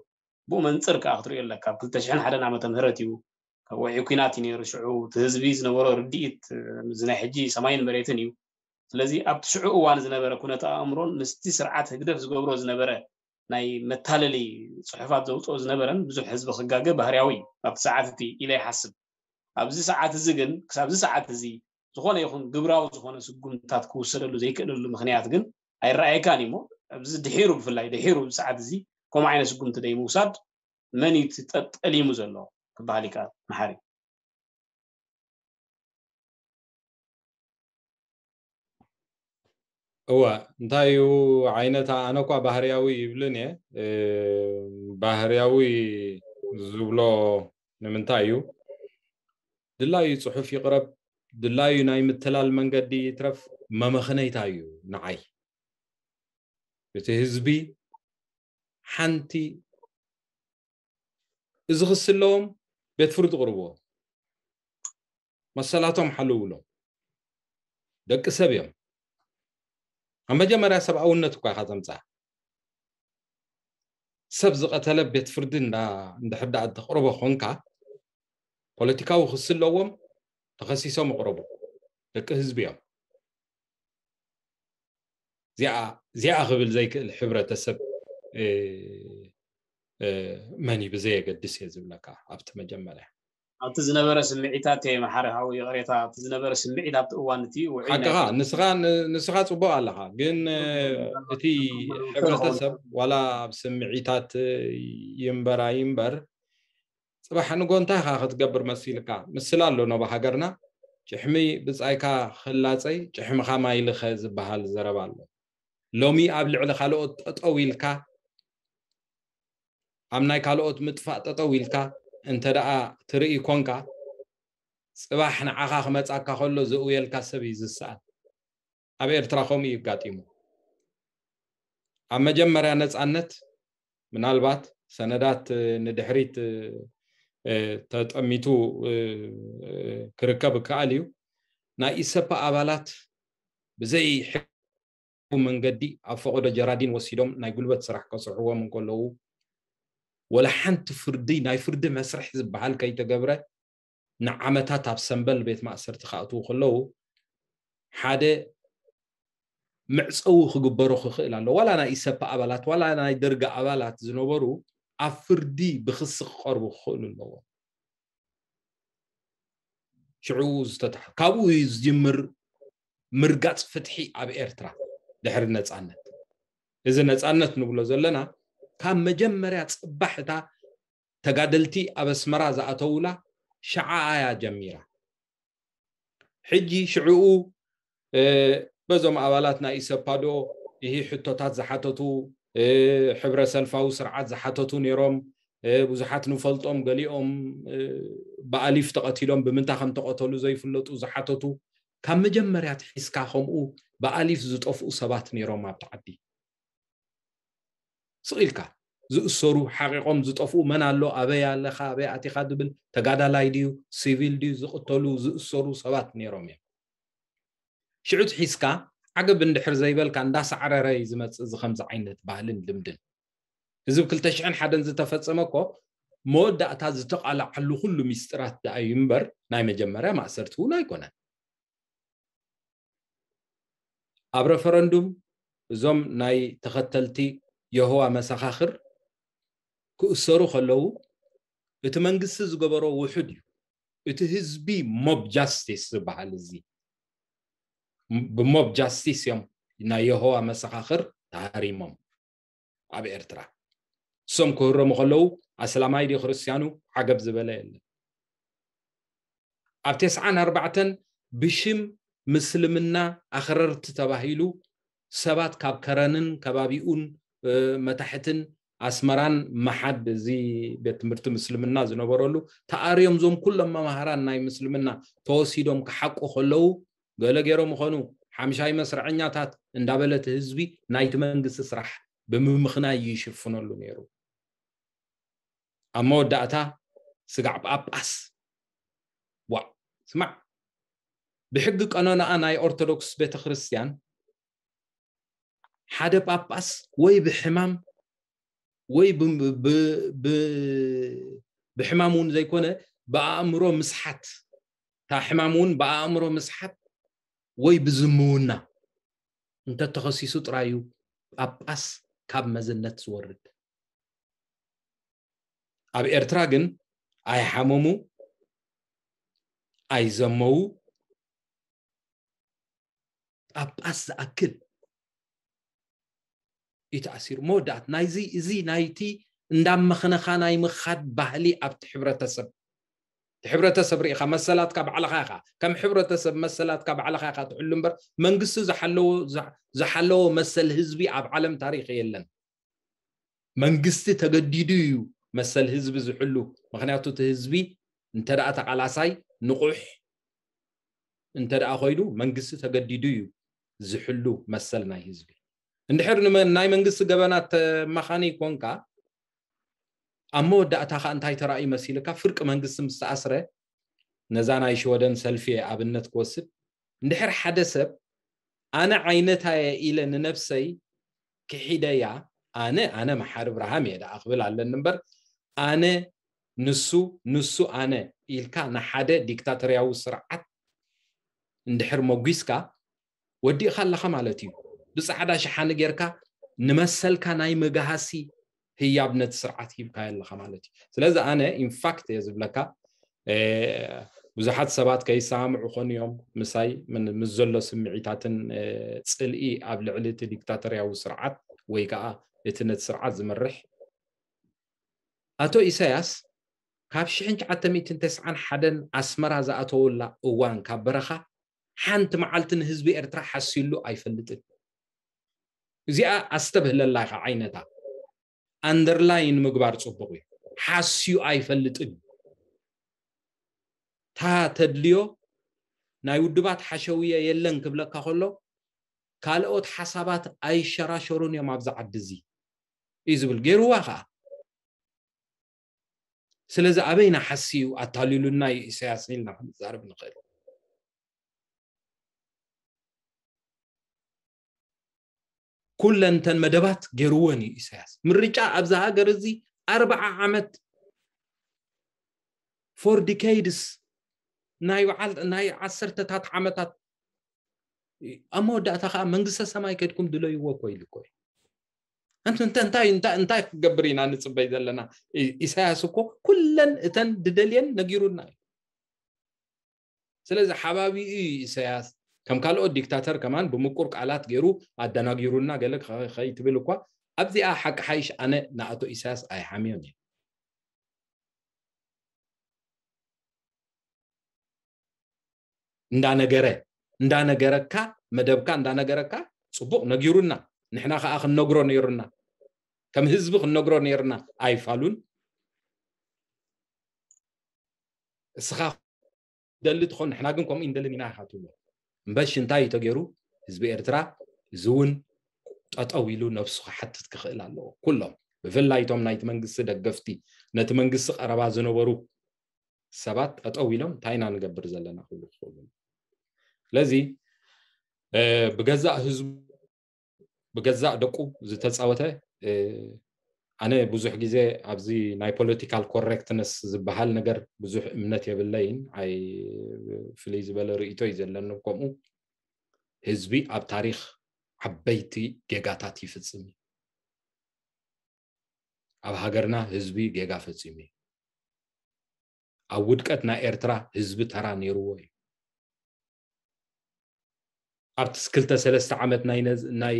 ብኡ መንፅር ከዓ ክትሪኦ ኣለካ ኣብ ክልተ ሽሕን ሓደን ዓመተ ምህረት እዩ ካብ ወዒ ኩናት እዩ ነይሩ። ሽዑ እቲ ህዝቢ ዝነበሮ ርድኢት እዚ ናይ ሕጂ ሰማይን መሬትን እዩ። ስለዚ ኣብቲ ሽዑ እዋን ዝነበረ ኩነተ ኣእምሮን ምስቲ ስርዓት ህግደፍ ዝገብሮ ዝነበረ ናይ መታለሊ ጽሑፋት ዘውፅኦ ዝነበረን ብዙሕ ህዝቢ ክጋገ ባህርያዊ እዩ ኣብቲ ሰዓት እቲ ኢለ ይሓስብ። ኣብዚ ሰዓት እዚ ግን ክሳብዚ ሰዓት እዚ ዝኾነ ይኹን ግብራዊ ዝኾነ ስጉምትታት ክውሰደሉ ዘይክእለሉ ምክንያት ግን ኣይረኣየካን እዩ። እሞ ኣብዚ ድሒሩ ብፍላይ ድሒሩ ኣብዚ ሰዓት እዚ ከምኡ ዓይነት ስጉምቲ ደይ ምውሳድ መን እዩ ጠሊሙ ዘሎ ክበሃል ይከኣል። መሓሪ እወ እንታይ እዩ ዓይነታ ኣነ እኳ ባህርያዊ ይብልን እየ። ባህርያዊ ዝብሎ ንምንታይ እዩ? ድላዩ ፅሑፍ ይቕረብ፣ ድላዩ ናይ ምትላል መንገዲ ይትረፍ፣ መመኽነይታ እዩ ንዓይ። እቲ ህዝቢ ሓንቲ እዚ ክስለዎም ቤት ፍርዲ ቅርብዎ፣ መሰላቶም ሓልውሎም። ደቂ ሰብ እዮም። ኣብ መጀመርያ ሰብኣውነት እኳ ኢኻ ተምፅኣ። ሰብ ዝቐተለ ቤት ፍርዲ እንድሕር ደኣ እተቕርቦ ኮንካ፣ ፖለቲካዊ ክሲ ኣለዎም፣ ተኸሲሶም ይቕረቡ። ደቂ ህዝቢ እዮም። እዚኣ ክብል ዘይክእል ሕብረተሰብ መን እዩ ብዘየገድስ እየ ዝብለካ። ኣብቲ መጀመርያ ኣብቲ ዝነበረ ስምዒታት እየ መሓሪ ሓው ይቕሬታ፣ ኣብቲ ዝነበረ ስምዒት ኣብቲ እዋን እቲ ውዑይ ናይ ሓቅኻ ንስኻ ንስኻ ጽቡቕ ኣለኻ፣ ግን እቲ ሕብረተሰብ ዋላ ኣብ ስምዒታት ይንበራ ይንበር ጽባሕ ንጎ እንታይ ኢኻ ክትገብር መሲልካ? ምስላ ኣሎ ኖባ ሃገርና፣ ጭሕሚ ብጻይካ ክላጸይ ጭሕምኻ ማይ ልኸ ዝበሃል ዘረባ ኣሎ። ሎሚ ኣብ ልዕሊ ካልኦት ጠጠው ኢልካ ኣብ ናይ ካልኦት ምጥፋእ ጠጠው ኢልካ እንተ ደኣ ትርኢ ኮንካ፣ ጽባሕ ንዓኻ ክመጻካ ከሎ ዝእውየልካ ሰብ እዩ ዝሰኣን። ኣብ ኤርትራ ከምኡ እዩ ኣጋጢሙ። ኣብ መጀመርያ ነጻነት ምናልባት ሰነዳት ንድሕሪት ተጠሚቱ ክርከብ ይከኣል እዩ። ናይ ኢሰፓ ኣባላት ብዘይ መንገዲ ኣብ ፈቐዶ ጀራዲን ወሲዶም ናይ ጉልበት ስራሕ ከስርሕዎም እንከለዉ፣ ወላ ሓንቲ ፍርዲ፣ ናይ ፍርዲ መስርሕ ዝበሃል ከይተገብረ ንዓመታት ኣብ ሰንበል ቤት ማእሰርቲ ክኣትዉ ከለዉ፣ ሓደ መዕፀዊ ክግበሮ ክኽእል ኣሎ። ዋላ ናይ ኢሰፓ ኣባላት፣ ዋላ ናይ ደርጊ ኣባላት ዝነበሩ ኣብ ፍርዲ ብክሲ ክቐርቡ ክኽእሉ ኣለዎም። ሽዑ ዝተታሕ-፣ ካብኡ እዩ ዝጅምር ምርጋጽ ፍትሒ ኣብ ኤርትራ ድሕሪ ነጻነት። እዚ ነጻነት ንብሎ ዘለና ካብ መጀመርያ ጽባሕ እታ ተጋደልቲ ኣብ ኣስመራ ዝኣተውላ ሸዓ እያ ጀሚራ። ሕጂ ሽዕኡ በዞም ኣባላት ናይ ኢሰፓዶ ይሂ ሕቶታት ዝሓተቱ፣ ሕብረ ሰልፋዊ ስርዓት ዝሓተቱ ነይሮም። ብዙሓት ንፈልጦም፣ ገሊኦም ብኣሊፍ ተቐቲሎም ብምንታይ ከም ተቐተሉ ዘይፍለጡ ዝሓተቱ፣ ካብ መጀመርያ ትሒዝካ ከምኡ ብኣሊፍ ዝጠፍኡ ሰባት ነይሮም ኣብቲ ዓዲ። ስቕ ኢልካ ዝእሰሩ፣ ሓቂቖም ዝጠፍኡ፣ መን ኣሎ፣ ኣበይ ኣለኻ፣ ኣበይ ኣቲኻ ዝብል፣ ተጋዳላይ ድዩ፣ ሲቪል ድዩ፣ ዝቕተሉ፣ ዝእሰሩ ሰባት ነይሮም እዮም። ሽዑ ትሒዝካ ዓገብ እንድሕር ዘይበልካ እንዳሳዕረረ እዩ ዝመጽእ እዚ ከምዚ ዓይነት ባህልን ልምድን። እዚ ብ ክልተ ሽሕን ሓደን ዝተፈጸመ እኮ መወዳእታ ዝተቓላዓሉ ኩሉ ሚስጥራት ደኣ እዩ እምበር ናይ መጀመርያ ማእሰርቲ እውን ኣይኮነን። ኣብ ረፈረንዱም እዞም ናይ ተኸተልቲ የሆዋ መሰኻኽር ክእሰሩ ከለዉ እቲ መንግስቲ ዝገበሮ ውሑድ እዩ። እቲ ህዝቢ ሞብ ጃስቲስ ዝበሃል እዚ ብሞብ ጃስቲስ እዮም ናይ የሆዋ መሰኻኽር ተሃሪሞም ኣብ ኤርትራ። እሶም ክህረሙ ከለዉ ኣስላማይ ድዩ ክርስትያኑ ዓገብ ዝበለ የለን። ኣብ ተስዓን ኣርባዕተን ብሽም ምስልምና ኣኽረርቲ ተባሂሉ ሰባት ካብ ከረንን ከባቢኡን መታሕትን ኣስመራን መሓድ እዚ ቤት ትምህርቲ ምስልምና ዝነበረሉ ተኣርዮም ዞም ኩሎም መማህራን ናይ ምስልምና ተወሲዶም ክሓቁ ከለዉ ገለ ገይሮም ይኾኑ ሓምሻይ መስርዐኛታት እንዳበለ እቲ ህዝቢ ናይቲ መንግስቲ ስራሕ ብምምኽናይ ይሽፍነሉ ነይሩ። ኣብ መወዳእታ ስጋዕ ጳጳስ ዋ ስማዕ ብሕጊ ቀኖናኣ ናይ ኦርቶዶክስ ቤተክርስትያን ሓደ ጳጳስ ወይ ብሕማም ወይ ብሕማም እውን ዘይኮነ ብኣእምሮ ምስሓት፣ እታ ሕማም እውን ብኣእምሮ ምስሓት ወይ ብዝምውና እንተተኸሲሱ ጥራይ እዩ ጳጳስ ካብ መዝነት ዝወርድ። ኣብ ኤርትራ ግን ኣይሓመሙ፣ ኣይዘመዉ፣ ጳጳስ ዝኣክል እዩ ተኣሲሩ። መወዳእት ናይዚ፣ እዚ ናይቲ እንዳመኽነኻ ናይ ምኻድ ባህሊ ኣብቲ ሕብረተሰብ፣ እቲ ሕብረተሰብ ርኢኻ መሰላትካ ባዕልኻ ኢኻ፣ ከም ሕብረተሰብ መሰላትካ ባዕልኻ ኢኻ ትሕሉ እምበር መንግስቲ ዝሓለዎ፣ ዝሓለዎ መሰል ህዝቢ ኣብ ዓለም ታሪኽ የለን። መንግስቲ ተገዲዱ እዩ መሰል ህዝቢ ዝሕሉ። ምኽንያቱ እቲ ህዝቢ እንተ ደኣ ተቓላሳይ ንቑሕ እንተ ደኣ ኮይኑ መንግስቲ ተገዲዱ እዩ ዝሕሉ መሰል ናይ ህዝቢ። እንድሕር ንመ-፣ ናይ መንግስቲ ገበናት ተማኻኒ ኮንካ ኣብ መወዳእታ ኸኣ እንታይ ተራእዩ መሲልካ? ፍርቂ መንግስቲ ምስ ተኣስረ፣ ነዛ ናይ ሽወደን ሰልፊ ኣብነት ክወስድ፣ እንድሕር ሓደ ሰብ ኣነ ዓይነታየ ኢለ ንነብሰይ ክሒደያ፣ ኣነ፣ ኣነ መሓሪ ብርሃም እየ ደኣ ክብል ኣለኒ እምበር፣ ኣነ ንሱ፣ ንሱ ኣነ ኢልካ ንሓደ ዲክታቶርያዊ ስርዓት እንድሕር መጒስካ፣ ወዲእኻ ኣለኻ ማለት እዩ። ብጻዕዳ ሸሓኒ ጌርካ ንመሰልካ ናይ መግሃሲ ህያብ ነቲ ስርዓት ሂብካዮ ኣለኻ ማለት እዩ። ስለዚ ኣነ ኢንፋክት እየ ዝብለካ፣ እ፣ ብዙሓት ሰባት ከይሰማምዑ ኾኑ እዮም ምሳይ፣ ምን-፣ ምስ ዘሎ ስምዒታትን፣ እ፣ ጽልኢ ኣብ ልዕሊ እቲ ዲክታቶርያዊ ስርዓት ወይ ከኣ እቲ ነቲ ስርዓት ዝመርሕ። ኣቶ ኢሳያስ ካብ ሽሕን ትሽዓተ ሚእትን ተስዓን ሓደን ኣስመራ ዝኣተወላ እዋን ካብ በረኻ ሓንቲ መዓልቲ ንህዝቢ ኤርትራ ሓስዩሉ ኣይፈልጥን። እዚኣ ኣስተብህለላ ኢኻ ዓይነታ። ኣንደርላይን ምግባር ጽቡቕ እዩ። ሓስዩ ኣይፈልጥን። እታ ተድልዮ ናይ ውድባት ሓሸውየ የለን ክብለካ ከሎ፣ ካልኦት ሓሳባት ኣይሸራሸሩን እዮም ኣብዚ ዓዲ እዚ እዩ ዝብል። ገይርዋ ኸኣ። ስለዚ ኣበይና ሓስዩ ኣታሊሉና እዩ ኢሳያስ ኢልና ክንዛረብ ንኽእል። ኩለን እተን መደባት ገይርወን እዩ ኢሳያስ። ምርጫ ኣብዚ ሃገር እዚ ኣርብዓ ዓመት፣ ፎር ዲኬይድስ፣ ናይ በዓል፣ ናይ ዓሰርተታት ዓመታት፣ ኣብ መወዳእታ ኸኣ መንግስተ ሰማይ ከድኩም ድለይዎ እኮ ኢሉ እኮ እዩ። እንተ-፣ እንተ-፣ እንታይ፣ እንታይ፣ እንታይ ክገብር ኢና ንጽበይ ዘለና? ኢ-፣ ኢሳያስ እኮ ኩለን እተን ድደልየን ነጊሩና እዩ። ስለዚ ሓባቢኡ እዩ ኢሳያስ። ከም ካልኦት ዲክታተር ከማን ብምቁር ቃላት ገይሩ ኣደናጊሩና ገለ ከ-፣ ከይትብል እኳ፣ ኣብዚኣ ሓቂ ሓይሽ ኣነ ንኣቶ ኢሳያስ ኣይሓምዮን እየ። እንዳነገረ፣ እንዳነገረካ፣ መደብካ እንዳነገረካ፣ ጽቡቕ ነጊሩና። ንሕና ከኣ ክንነግሮ ነይሩና። ከም ህዝቢ ክንነግሮ ነይሩና። ኣይፋሉን። እስኻ ደሊ ትኾን፣ ንሕና ግን ከምኡ እንደልን ኢና ኢኻ ትብሎ። እምበሽ እንታይ እዩ ተገይሩ? ህዝቢ ኤርትራ እዚ እውን ጠጠው ኢሉ ነብሱ ክሓትት ክኽእል ኣለዎ። ኩሎም፣ ብፍላይ እቶም ናይቲ መንግስቲ ደገፍቲ፣ ነቲ መንግስቲ ቀረባ ዝነበሩ ሰባት ጠጠው ኢሎም እንታይ ኢና ንገብር ዘለና ክብሉ ክኽእሉ። ስለዚ፣ እ፣ ብገዛእ ህዝቡ፣ ብገዛእ ደቁ ዝተጻወተ፣ እ፣ ኣነ ብዙሕ ግዜ ኣብዚ ናይ ፖለቲካል ኮሬክትነስ ዝበሃል ነገር ብዙሕ እምነት የብለይን። ኣይ፣ ፍልይ ዝበለ ርእይቶ እዩ ዘለኒ። ከምኡ ህዝቢ ኣብ ታሪኽ ዓበይቲ ጌጋታት ይፍጽም እዩ። ኣብ ሃገርና ህዝቢ ጌጋ ፈጺሙ እዩ። ኣብ ውድቀት ናይ ኤርትራ ህዝቢ ተራ ነይርዎ እዩ። ኣብቲ ክልተ ሰለስተ ዓመት ናይ ነዝ-፣ ናይ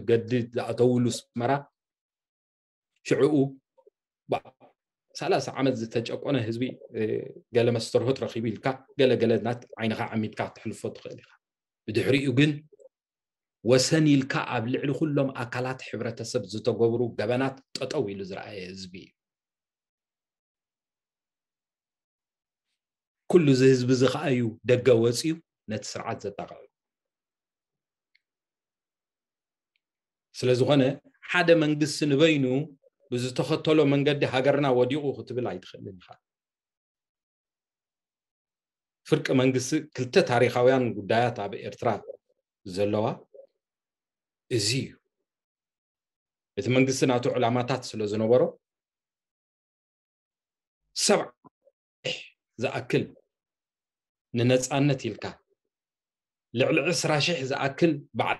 ገድሊ ዝኣተውሉ ኣስመራ፣ ሽዕኡ ባ-፣ ሰላሳ ዓመት ዝተጨቆነ ህዝቢ፣ እ፣ ገለ መስተርሆት ረኺቡ ኢልካ፣ ገለ ገለ ናት ዓይንኻ ዓሚትካ ክትሕልፎ ትኽእል ኢኻ። ብድሕሪኡ ግን ወሰን ኢልካ ኣብ ልዕሊ ኩሎም ኣካላት ሕብረተሰብ ዝተገብሩ ገበናት ጠጠው ኢሉ ዝረኣየ ህዝቢ እዩ። ኩሉ እዚ ህዝቢ እዚ ኸኣ እዩ ደገ ወጺኡ ነቲ ስርዓት ዘጣቕዕ። ስለ ዝኾነ ሓደ መንግስቲ ንበይኑ ብዝተኸተሎ መንገዲ ሃገርና ወዲቑ ክትብል ኣይትኽእልን ኢኻ። ፍርቂ መንግስቲ ክልተ ታሪኻውያን ጉዳያት ኣብ ኤርትራ ዘለዋ እዚ እዩ። እቲ መንግስቲ ናቱ ዕላማታት ስለ ዝነበሮ ሰብዓ ዝኣክል ንነፃነት ኢልካ ልዕሊ ዕስራ ሺሕ ዝኣክል በዓል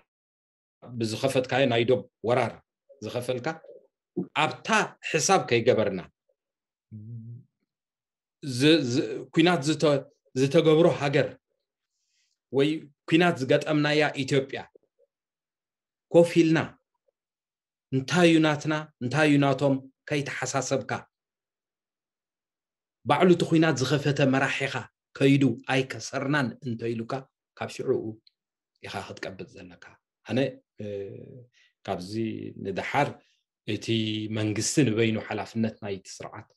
ብዝኸፈትካዮ ናይ ዶብ ወራር ዝኸፈልካ ኣብታ ሕሳብ ከይገበርና ዝ- ዝ- ኩናት ዝተ- ዝተገብሮ ሃገር ወይ ኩናት ዝገጠምናያ ኢትዮጵያ ኮፍ ኢልና እንታይ እዩ ናትና እንታይ እዩ ናቶም ከይተሓሳሰብካ ባዕሉ እቲ ኩናት ዝኸፈተ መራሒኻ ከይዱ ኣይከሰርናን እንተኢሉካ ካብ ሽዑኡ ኢኻ ክትቀብጥ ዘለካ ኣነ ካብዚ ንደሓር እቲ መንግስቲ ንበይኑ ሓላፍነት ናይቲ ስርዓት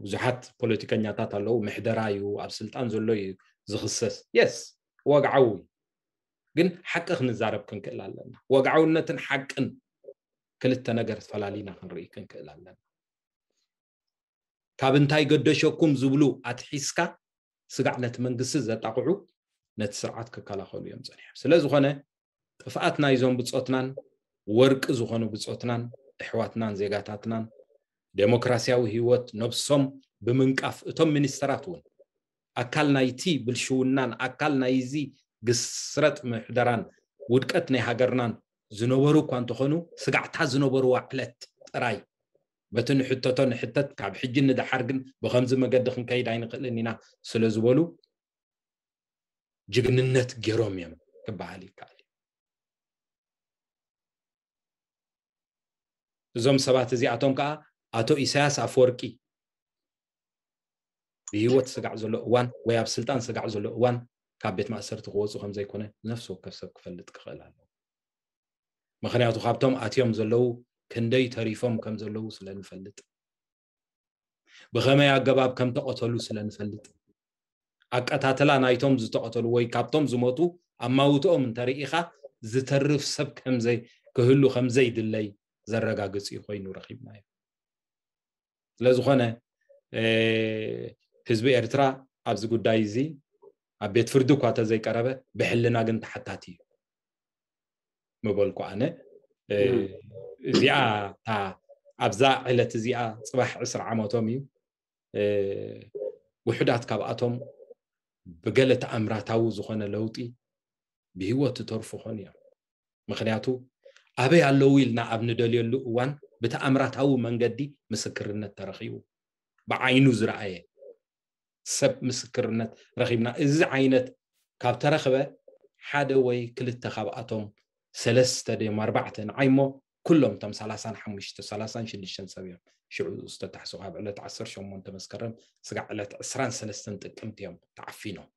ብዙሓት ፖለቲከኛታት ኣለዉ ምሕደራ እዩ ኣብ ስልጣን ዘሎ እዩ ዝኽሰስ የስ ወግዓዊ ግን ሓቂ ክንዛረብ ክንክእል ኣለና ወግዓውነትን ሓቅን ክልተ ነገር ፈላሊና ክንርኢ ክንክእል ኣለና ካብ እንታይ ገደሸኩም ዝብሉ ኣትሒዝካ ስጋዕ ነቲ መንግስቲ ዘጣቕዑ ነቲ ስርዓት ክከላኸሉ እዮም ጸኒሖም ስለ ዝኾነ ጥፍኣት ናይዞም ብጾትናን ወርቂ ዝኾኑ ብጾትናን ኣሕዋትናን ዜጋታትናን ዴሞክራሲያዊ ህይወት ነብሶም ብምንቃፍ እቶም ሚኒስተራት እውን ኣካል ናይቲ ብልሽውናን ኣካል ናይዚ ግስረጥ ምሕደራን ውድቀት ናይ ሃገርናን ዝነበሩ እኳ እንተኾኑ ስጋዕታ ዝነበርዋ ዕለት ጥራይ በቲ ንሕተቶ ንሕተት ካብ ሕጂ ንደሓር ግን ብኸምዚ መገዲ ክንከይድ ኣይንኽእልን ኢና ስለ ዝበሉ ጅግንነት ገይሮም እዮም ክበሃል ይከኣል እዩ እዞም ሰባት እዚኣቶም ከዓ ኣቶ ኢሳያስ ኣፈወርቂ ብህይወት ስጋዕ ዘሎ እዋን ወይ ኣብ ስልጣን ስጋዕ ዘሎ እዋን ካብ ቤት ማእሰርቲ ክወፁ ከም ዘይኮነ ነፍሲ ወከፍ ሰብ ክፈልጥ ክኽእል ኣለዎ ምኽንያቱ ካብቶም ኣትዮም ዘለዉ ክንደይ ተሪፎም ከም ዘለዉ ስለ ንፈልጥ ብኸመይ ኣገባብ ከም ተቐተሉ ስለ ንፈልጥ ኣቀታትላ ናይቶም ዝተቐተሉ ወይ ካብቶም ዝሞቱ ኣማውትኦም እንተርኢኻ ዝተርፍ ሰብ ከምዘይ ክህሉ ከምዘይድለይ ዘረጋግጽ እዩ ኮይኑ ረኺብናዮ ስለዝኾነ ህዝቢ ኤርትራ ኣብዚ ጉዳይ እዚ ኣብ ቤት ፍርዲ እኳ ተዘይቀረበ ብሕልና ግን ተሓታቲ እዩ ምበልኩ ኣነ እዚኣ ኣብዛ ዕለት እዚኣ ፅባሕ ዕስራ ዓመቶም እዩ ውሕዳት ካብኣቶም ብገለ ተኣምራታዊ ዝኾነ ለውጢ ብህይወት ዝተርፉ ኾኑ እዮም ምኽንያቱ ኣበይ ኣለዉ ኢልና ኣብ ንደልየሉ እዋን ብተኣምራታዊ መንገዲ ምስክርነት ተረኺቡ ብዓይኑ ዝረኣየ ሰብ ምስክርነት ረኺብና እዚ ዓይነት ካብ ተረኽበ ሓደ ወይ ክልተ ካብኣቶም ሰለስተ ድዮም ኣርባዕተ ንዓይ እሞ ኩሎም እቶም ሰላሳን ሓሙሽተ ሰላሳን ሽዱሽተን ሰብ እዮም ሽዑ ዝተታሕሱ ካብ ዕለት ዓሰርተ ሸሞንተ መስከረም ስጋዕ ዕለት ዕስራን ሰለስተን ጥቅምቲ እዮም ተዓፊኖም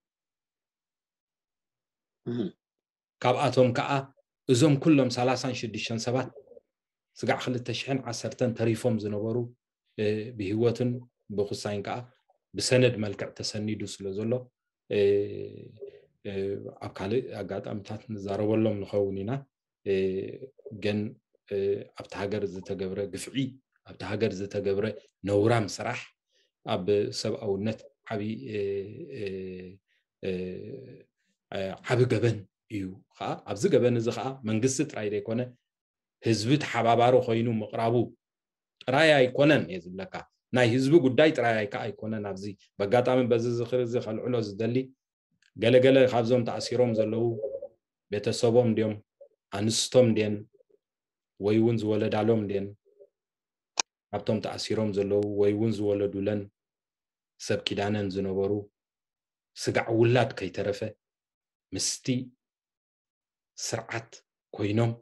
ካብኣቶም ከዓ እዞም ኩሎም ሰላሳን ሽዱሽተን ሰባት ስጋዕ ክልተ ሽሕን ዓሰርተን ተሪፎም ዝነበሩ ብህይወትን ብኩሳይን ከዓ ብሰነድ መልክዕ ተሰኒዱ ስለ ዘሎ ኣብ ካልእ ኣጋጣሚታት ንዛረበሎም ንኸውን ኢና ግን ኣብቲ ሃገር ዝተገብረ ግፍዒ ኣብቲ ሃገር ዝተገብረ ነውራም ስራሕ ኣብ ሰብኣውነት ዓቢ ዓቢ ገበን እዩ ከዓ ኣብዚ ገበን እዚ ከዓ መንግስቲ ጥራይ ዘይኮነ ህዝቢ ተሓባባሪ ኮይኑ ምቕራቡ ጥራይ ኣይኮነን እየ ዝብለካ ናይ ህዝቢ ጉዳይ ጥራይ ኣይከዓ ኣይኮነን ኣብዚ በጋጣሚ በዚ ዝኽሪ እዚ ከልዕሎ ዝደሊ ገለገለ ካብዞም ተኣሲሮም ዘለዉ ቤተሰቦም ድዮም ኣንስቶም ድየን ወይ እውን ዝወለዳሎም ድየን ካብቶም ተኣሲሮም ዘለዉ ወይ እውን ዝወለዱለን ሰብ ኪዳነን ዝነበሩ ስጋዕ ውላድ ከይተረፈ ምስቲ ስርዓት ኮይኖም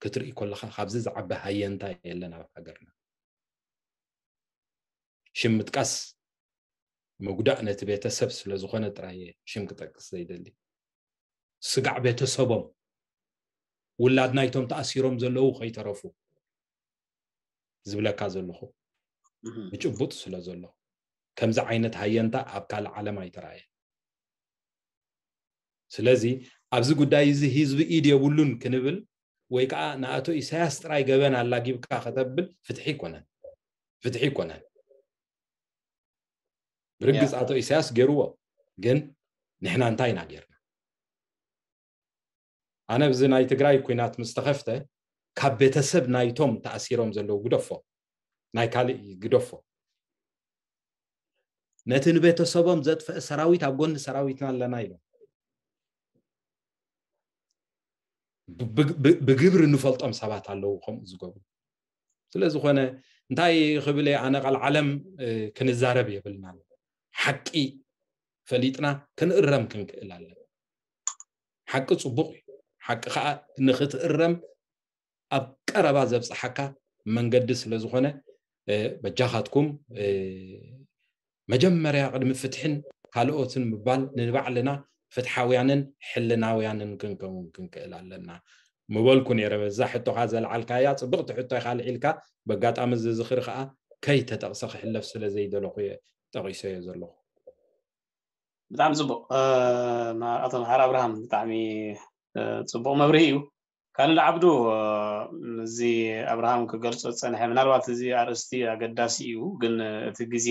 ክትርኢ ከለኻ ካብዚ ዝዓበ ሃየንታ የለን ኣብ ሃገርና ሽም ምጥቃስ ምጉዳእ ነቲ ቤተሰብ ስለ ዝኾነ ጥራይ እየ ሽም ክጠቅስ ዘይደሊ ስጋዕ ቤተሰቦም ውላድ ናይቶም ተኣሲሮም ዘለዉ ከይተረፉ ዝብለካ ዘለኹ ብጭቡጥ ስለ ዘሎ ከምዚ ዓይነት ሃየንታ ኣብ ካልእ ዓለም ኣይተራእየ ስለዚ ኣብዚ ጉዳይ እዚ ህዝቢ ኢድ የብሉን ክንብል ወይ ከዓ ንኣቶ ኢሳያስ ጥራይ ገበን ኣላጊብካ ከተብል ፍትሒ ይኮነን ፍትሒ ይኮነን ብርግፅ ኣቶ ኢሳያስ ገይርዎ ግን ንሕና እንታይ ኢና ገይርና ኣነ ብዚ ናይ ትግራይ ኩናት ምስ ተኸፍተ ካብ ቤተሰብ ናይቶም ተኣሲሮም ዘለዉ ግደፎ ናይ ካልእ ግደፎ ነቲ ንቤተሰቦም ዘጥፈአ ሰራዊት ኣብ ጎኒ ሰራዊትና ኣለና ኢሎም። ብግብሪ ንፈልጦም ሰባት ኣለዉ ከምኡ ዝገብሩ። ስለዝኾነ እንታይ ክብል እየ ኣነ፣ ቃል ዓለም ክንዛረብ የብልናን። ሓቂ ፈሊጥና ክንእረም ክንክእል ኣለና። ሓቂ ጽቡቕ እዩ። ሓቂ ከዓ ንክትእረም ኣብ ቀረባ ዘብፅሓካ መንገዲ ስለዝኾነ በጃኻትኩም መጀመርያ ቅድሚ ፍትሕን ካልኦትን ምባል ንባዕልና ፍትሓውያንን ሕልናውያንን ክንከውን ክንክእል ኣለና ምበልኩ ነይረ። በዛ ሕቶኻ ዘልዓልካያ ጽብቕቲ ሕቶ ኢኻ ኣልዒልካ። በጋጣሚ እዚ ዝኽሪ ከዓ ከይተጠቕሰ ክሕለፍ ስለ ዘይደለኹ እየ ጠቒሰዮ ዘለኹ። ብጣዕሚ ጽቡቕ። ኣቶ መሓር ኣብርሃም፣ ብጣዕሚ ጽቡቕ መብርሂ እዩ። ካልድ ዓብዱ፣ እዚ ኣብርሃም ክገልጾ ዝጸንሐ፣ ምናልባት እዚ ኣርእስቲ ኣገዳሲ እዩ፣ ግን እቲ ግዜ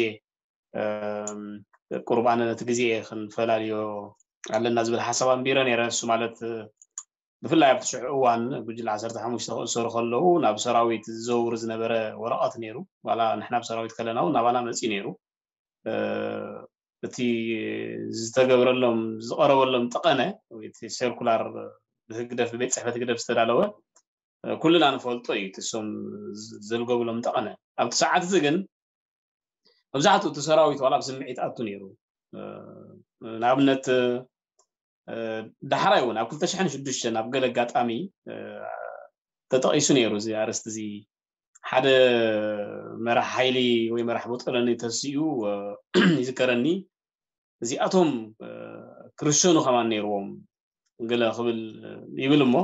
ቁርብ ኣነ ነቲ ግዜ ክንፈላልዮ ኣለና ዝብል ሓሳብ ኣንቢረ ነይረ። እሱ ማለት ብፍላይ ኣብቲ ሽዑ እዋን ጉጅለ ዓሰርተ ሓሙሽተ ክእሰሩ ከለዉ ናብ ሰራዊት ዝዘውር ዝነበረ ወረቐት ነይሩ። ዋላ ንሕና ኣብ ሰራዊት ከለና እውን ናባና መጺኡ ነይሩ። እቲ ዝተገብረሎም ዝቐረበሎም ጠቐነ ወይ እቲ ሰርኩላር ብህግደፍ ብቤት ጽሕፈት ህግደፍ ዝተዳለወ ኩልና ንፈልጦ እዩ። እቲ እሶም ዘልገቡሎም ጠቐነ ኣብቲ ሰዓት እዚ ግን መብዛሕትኡ እቲ ሰራዊት ዋላ ብስምዒት ኣቱ ነይሩ። ንኣብነት ዳሕራይ እውን ኣብ ክልተ ሽሕን ሽዱሽተን ኣብ ገለ ኣጋጣሚ ተጠቒሱ ነይሩ እዚ ኣርእስቲ እዚ። ሓደ መራሕ ሓይሊ ወይ መራሕ ቦጠለኒ ተሲኡ ይዝከረኒ። እዚኣቶም ክርሸኑ ከማን ነይርዎም ገለ ክብል ይብል እሞ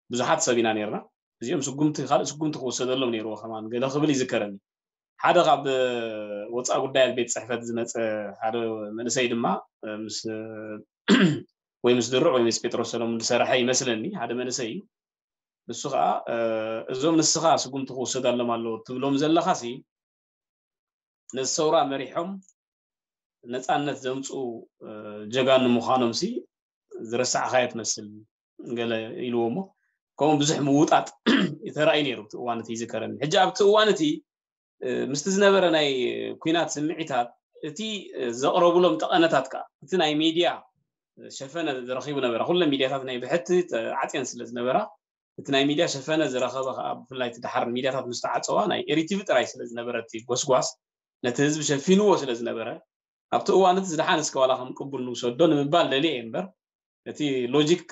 ብዙሓት ሰብ ኢና ነይርና። እዚኦም ስጉምቲ ካልእ ስጉምቲ ክወሰደሎም ነይርዎ ከማን ገለ ክብል ይዝከረኒ። ሓደ ካብ ወፃኢ ጉዳያት ቤት ፅሕፈት ዝመፀ ሓደ መንእሰይ ድማ ምስ ወይ ምስ ድሩዕ ወይ ምስ ጴጥሮስ ሰለሙን ዝሰረሐ ይመስለኒ ሓደ መንእሰይ እዩ። ንሱ ከዓ እዞም ንስኻ ስጉምቲ ክወሰዳሎም ኣለዎ ትብሎም ዘለኻሲ ነዚ ሰውራ መሪሖም ነፃነት ዘምፅኡ ጀጋኑ ምዃኖምሲ ዝረሳዕኻዮ ትመስል ገለ ኢልዎ እሞ ከምኡ ብዙሕ ምውጣጥ ተራእዩ ነይሩ። እቲ እዋን እቲ ይዝከረኒ። ሕጂ ኣብቲ እዋን እቲ ምስቲ ዝነበረ ናይ ኩናት ስምዒታት እቲ ዘቕረቡሎም ጠቐነታት ከዓ እቲ ናይ ሚድያ ሸፈነ ዝረኺቡ ነበረ። ኩለን ሚድያታት ናይ ብሕቲ ተዓፅየን ስለ ዝነበራ እቲ ናይ ሚድያ ሸፈነ ዝረኸበ ከዓ ብፍላይ እቲ ደሓር ሚድያታት ምስ ተዓፀዋ ናይ ኤሪቲቪ ጥራይ ስለ ዝነበረ እቲ ጎስጓስ ነቲ ህዝቢ ሸፊንዎ ስለ ዝነበረ ኣብቲ እዋን እቲ ዝደሓን እስከ ዋላ ከም ቅቡል ንውሰዶ ንምባል ደልየ እየ እምበር እቲ ሎጂክ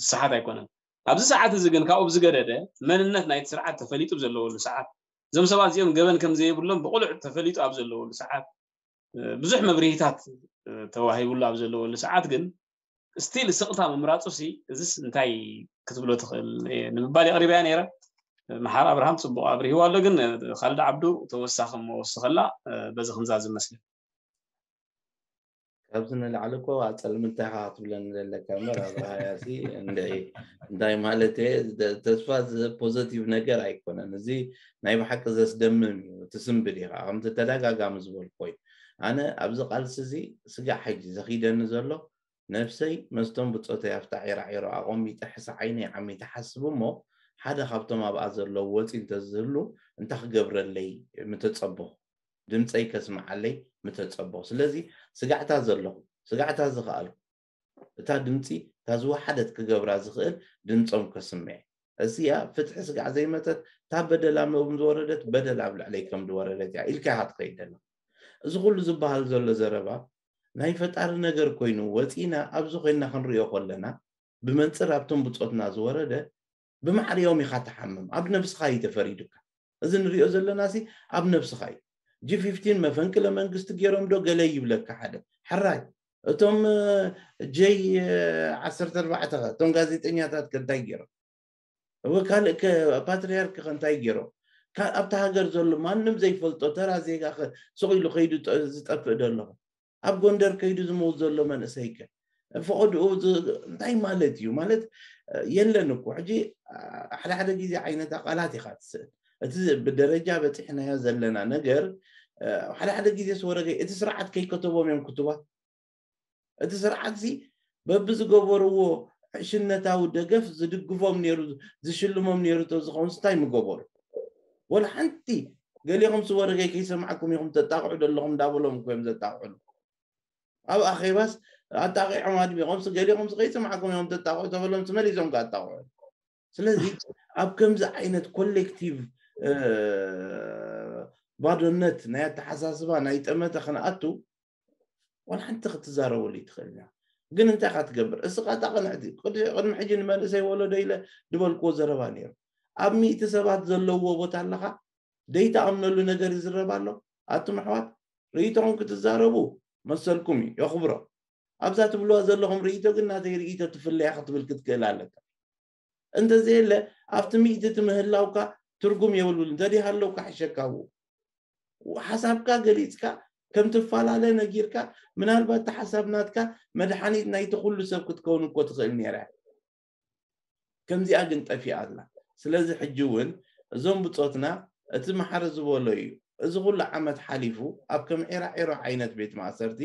ዝሰሓት ኣይኮነን። ኣብዚ ሰዓት እዚ ግን ካብኡ ብዝገደደ መንነት ናይቲ ስርዓት ተፈሊጡ ዘለወሉ ሰዓት እዞም ሰባት እዚኦም ገበን ከም ዘይብሎም ብቁሉዕ ተፈሊጡ ኣብ ዘለወሉ ሰዓት ብዙሕ መብርሂታት ተዋሂብሉ ኣብ ዘለወሉ ሰዓት ግን ስቲል ስቕታ ምምራፁ ሲ እዚስ እንታይ ክትብሎ ትኽእል ንምባል የቕሪበያ ነይረ። መሓር ኣብርሃም ፅቡቕ ኣብሪህዋ ኣሎ፣ ግን ካልድ ዓብዱ ተወሳኺ እሞ ወስኸላ በዚ ክንዛዝም መስለ ካብዚ ንላዕሊ እኮ ኣፀልምንታይ ካ ክትብለኒ ዘለካ እምበር ኣብርሃያ ሲ እንድዒ እንታይ ማለት እየ ተስፋ ፖዘቲቭ ነገር ኣይኮነን። እዚ ናይ ብሓቂ ዘስደምም እዩ። እቲ ስንብድ ኢኻ ከምቲ ተደጋጋሚ ዝበልኮ እዩ። ኣነ ኣብዚ ቃልሲ እዚ ስጋዕ ሕጂ ዘኺደኒ ዘሎ ነብሰይ መስቶም ብፆተይ ኣብታ ዒራዒሮ ኣቐሚጠ ሕሳ ዓይነይ ዓሚተ ሓስብ እሞ ሓደ ካብቶም ኣብኣ ዘለዉ ወፂ እንተዝህሉ እንታይ ክገብረለይ ምተፀበኹ ድምፀይ ከስምዓለይ ምተፀበኹ ስለዚ ስጋዕታ ዘለኹ ስጋዕታ ዝኸኣልኩ እታ ድምፂ እታ ዝወሓደት ክገብራ ዝኽእል ድምፆም ከስምዕ እዚኣ ፍትሒ ስጋዕ ዘይመፀት እታ በደል ኣብ ዝወረደት በደል ኣብ ልዕለይ ከም ዝወረደት እያ ኢልካ ኢኻ ትኸይድ ዘለኻ እዚ ኩሉ ዝበሃል ዘሎ ዘረባ ናይ ፈጣሪ ነገር ኮይኑ ወፂና ኣብዚ ኮይና ክንሪኦ ከለና ብመንፅር ኣብቶም ብፆትና ዝወረደ ብማዕሪኦም ኢኻ ትሓምም ኣብ ነብስኻ እዩ ተፈሪዱካ እዚ ንሪኦ ዘለና ሲ ኣብ ነብስኻ እዩ ጂ ፊፍቲን መፈንቅለ መንግስቲ ገይሮም ዶ ገለ ይብለካ ሓደ ሕራይ እቶም ጀይ ዓሰርተ ኣርባዕተ ከ እቶም ጋዜጠኛታት ከ እንታይ ገይሮም እወ ካልእ ከ ፓትርያርክ ከ እንታይ ገይሮም ኣብታ ሃገር ዘሎ ማንም ዘይፈልጦ ተራ ዜጋ ከ ሱቕ ኢሉ ከይዱ ዝጠፍእ ዶ ኣለኹ ኣብ ጎንደር ከይዱ ዝመውት ዘሎ መንእሰይ ከ ፈቐድኡ እንታይ ማለት እዩ ማለት የለን እኮ ሕጂ ሓደ ሓደ ግዜ ዓይነታ ቃላት ኢኻ ትስእል እቲ ብደረጃ በፂሕናዮ ዘለና ነገር ሓደ ሓደ ግዜ ስወረገ እቲ ስርዓት ከይከተቦም እዮም ክትባ እቲ ስርዓት ዚ በብዝገበርዎ ዕሽነታዊ ደገፍ ዝድግፎም ነይሩ ዝሽልሞም ነይሩ ተዝኸውን እንታይ ምገበሩ ወላ ሓንቲ ገሊኹም ስወረገይ ከይሰማዕኩም ኢኹም ተጣቕዑ ዘለኹም እንዳበሎም እኮ እዮም ዘጣቕዑ። ኣብ ኣኼባስ ኣጣቂዖም ኣድሚቖም፣ ገሊኹም ከይሰማዕኩም እዮም ተጣቕዑ ተበሎም፣ መሊሶም ከኣጣቕዑ። ስለዚ ኣብ ከምዚ ዓይነት ኮሌክቲቭ ባዶነት ናይ ኣተሓሳስባ ናይ ጠመተ ክንኣቱ ዋላ ሓንቲ ክትዛረበሉ ይትኽእል ኢና። ግን እንታይ ኢኻ ትገብር? እስኻ እታ ቅንዕቲ ቅድሚ ሕጂ ንመንእሰይ ወለዶ ኢለ ዝበልክዎ ዘረባ ነይሩ። ኣብ ሚእቲ ሰባት ዘለውዎ ቦታ ኣለኻ፣ ደይተኣምነሉ ነገር ይዝረብ ኣሎ። ኣቱም ኣሕዋት፣ ርእይቶኹም ክትዛረቡ መሰልኩም እዩ፣ የኽብሮ። ኣብዛ ትብልዋ ዘለኹም ርእይቶ ግን ናተይ ርእይቶ ትፍለያ ክትብል ክትክእል ኣለካ። እንተዘየለ ኣብቲ ሚእቲ እቲ ምህላውካ ትርጉም የብልብሉ። እንተደይሃለውካ ሕሸካ፣ ሓሳብካ ገሊፅካ ከም ትፈላለ ነጊርካ፣ ምናልባት እቲ ሓሳብ ናትካ መድሓኒት ናይቲ ኩሉ ሰብ ክትከውን እኮ ትኽእል ነይራ። ከምዚኣ ግን ጠፊኣ ኣላ። ስለዚ ሕጂ እውን እዞም ብፆትና እቲ መሓሪ ዝበሎ እዩ። እዚ ኩሉ ዓመት ሓሊፉ ኣብ ከም ዒራ ዒሮ ዓይነት ቤት ማእሰርቲ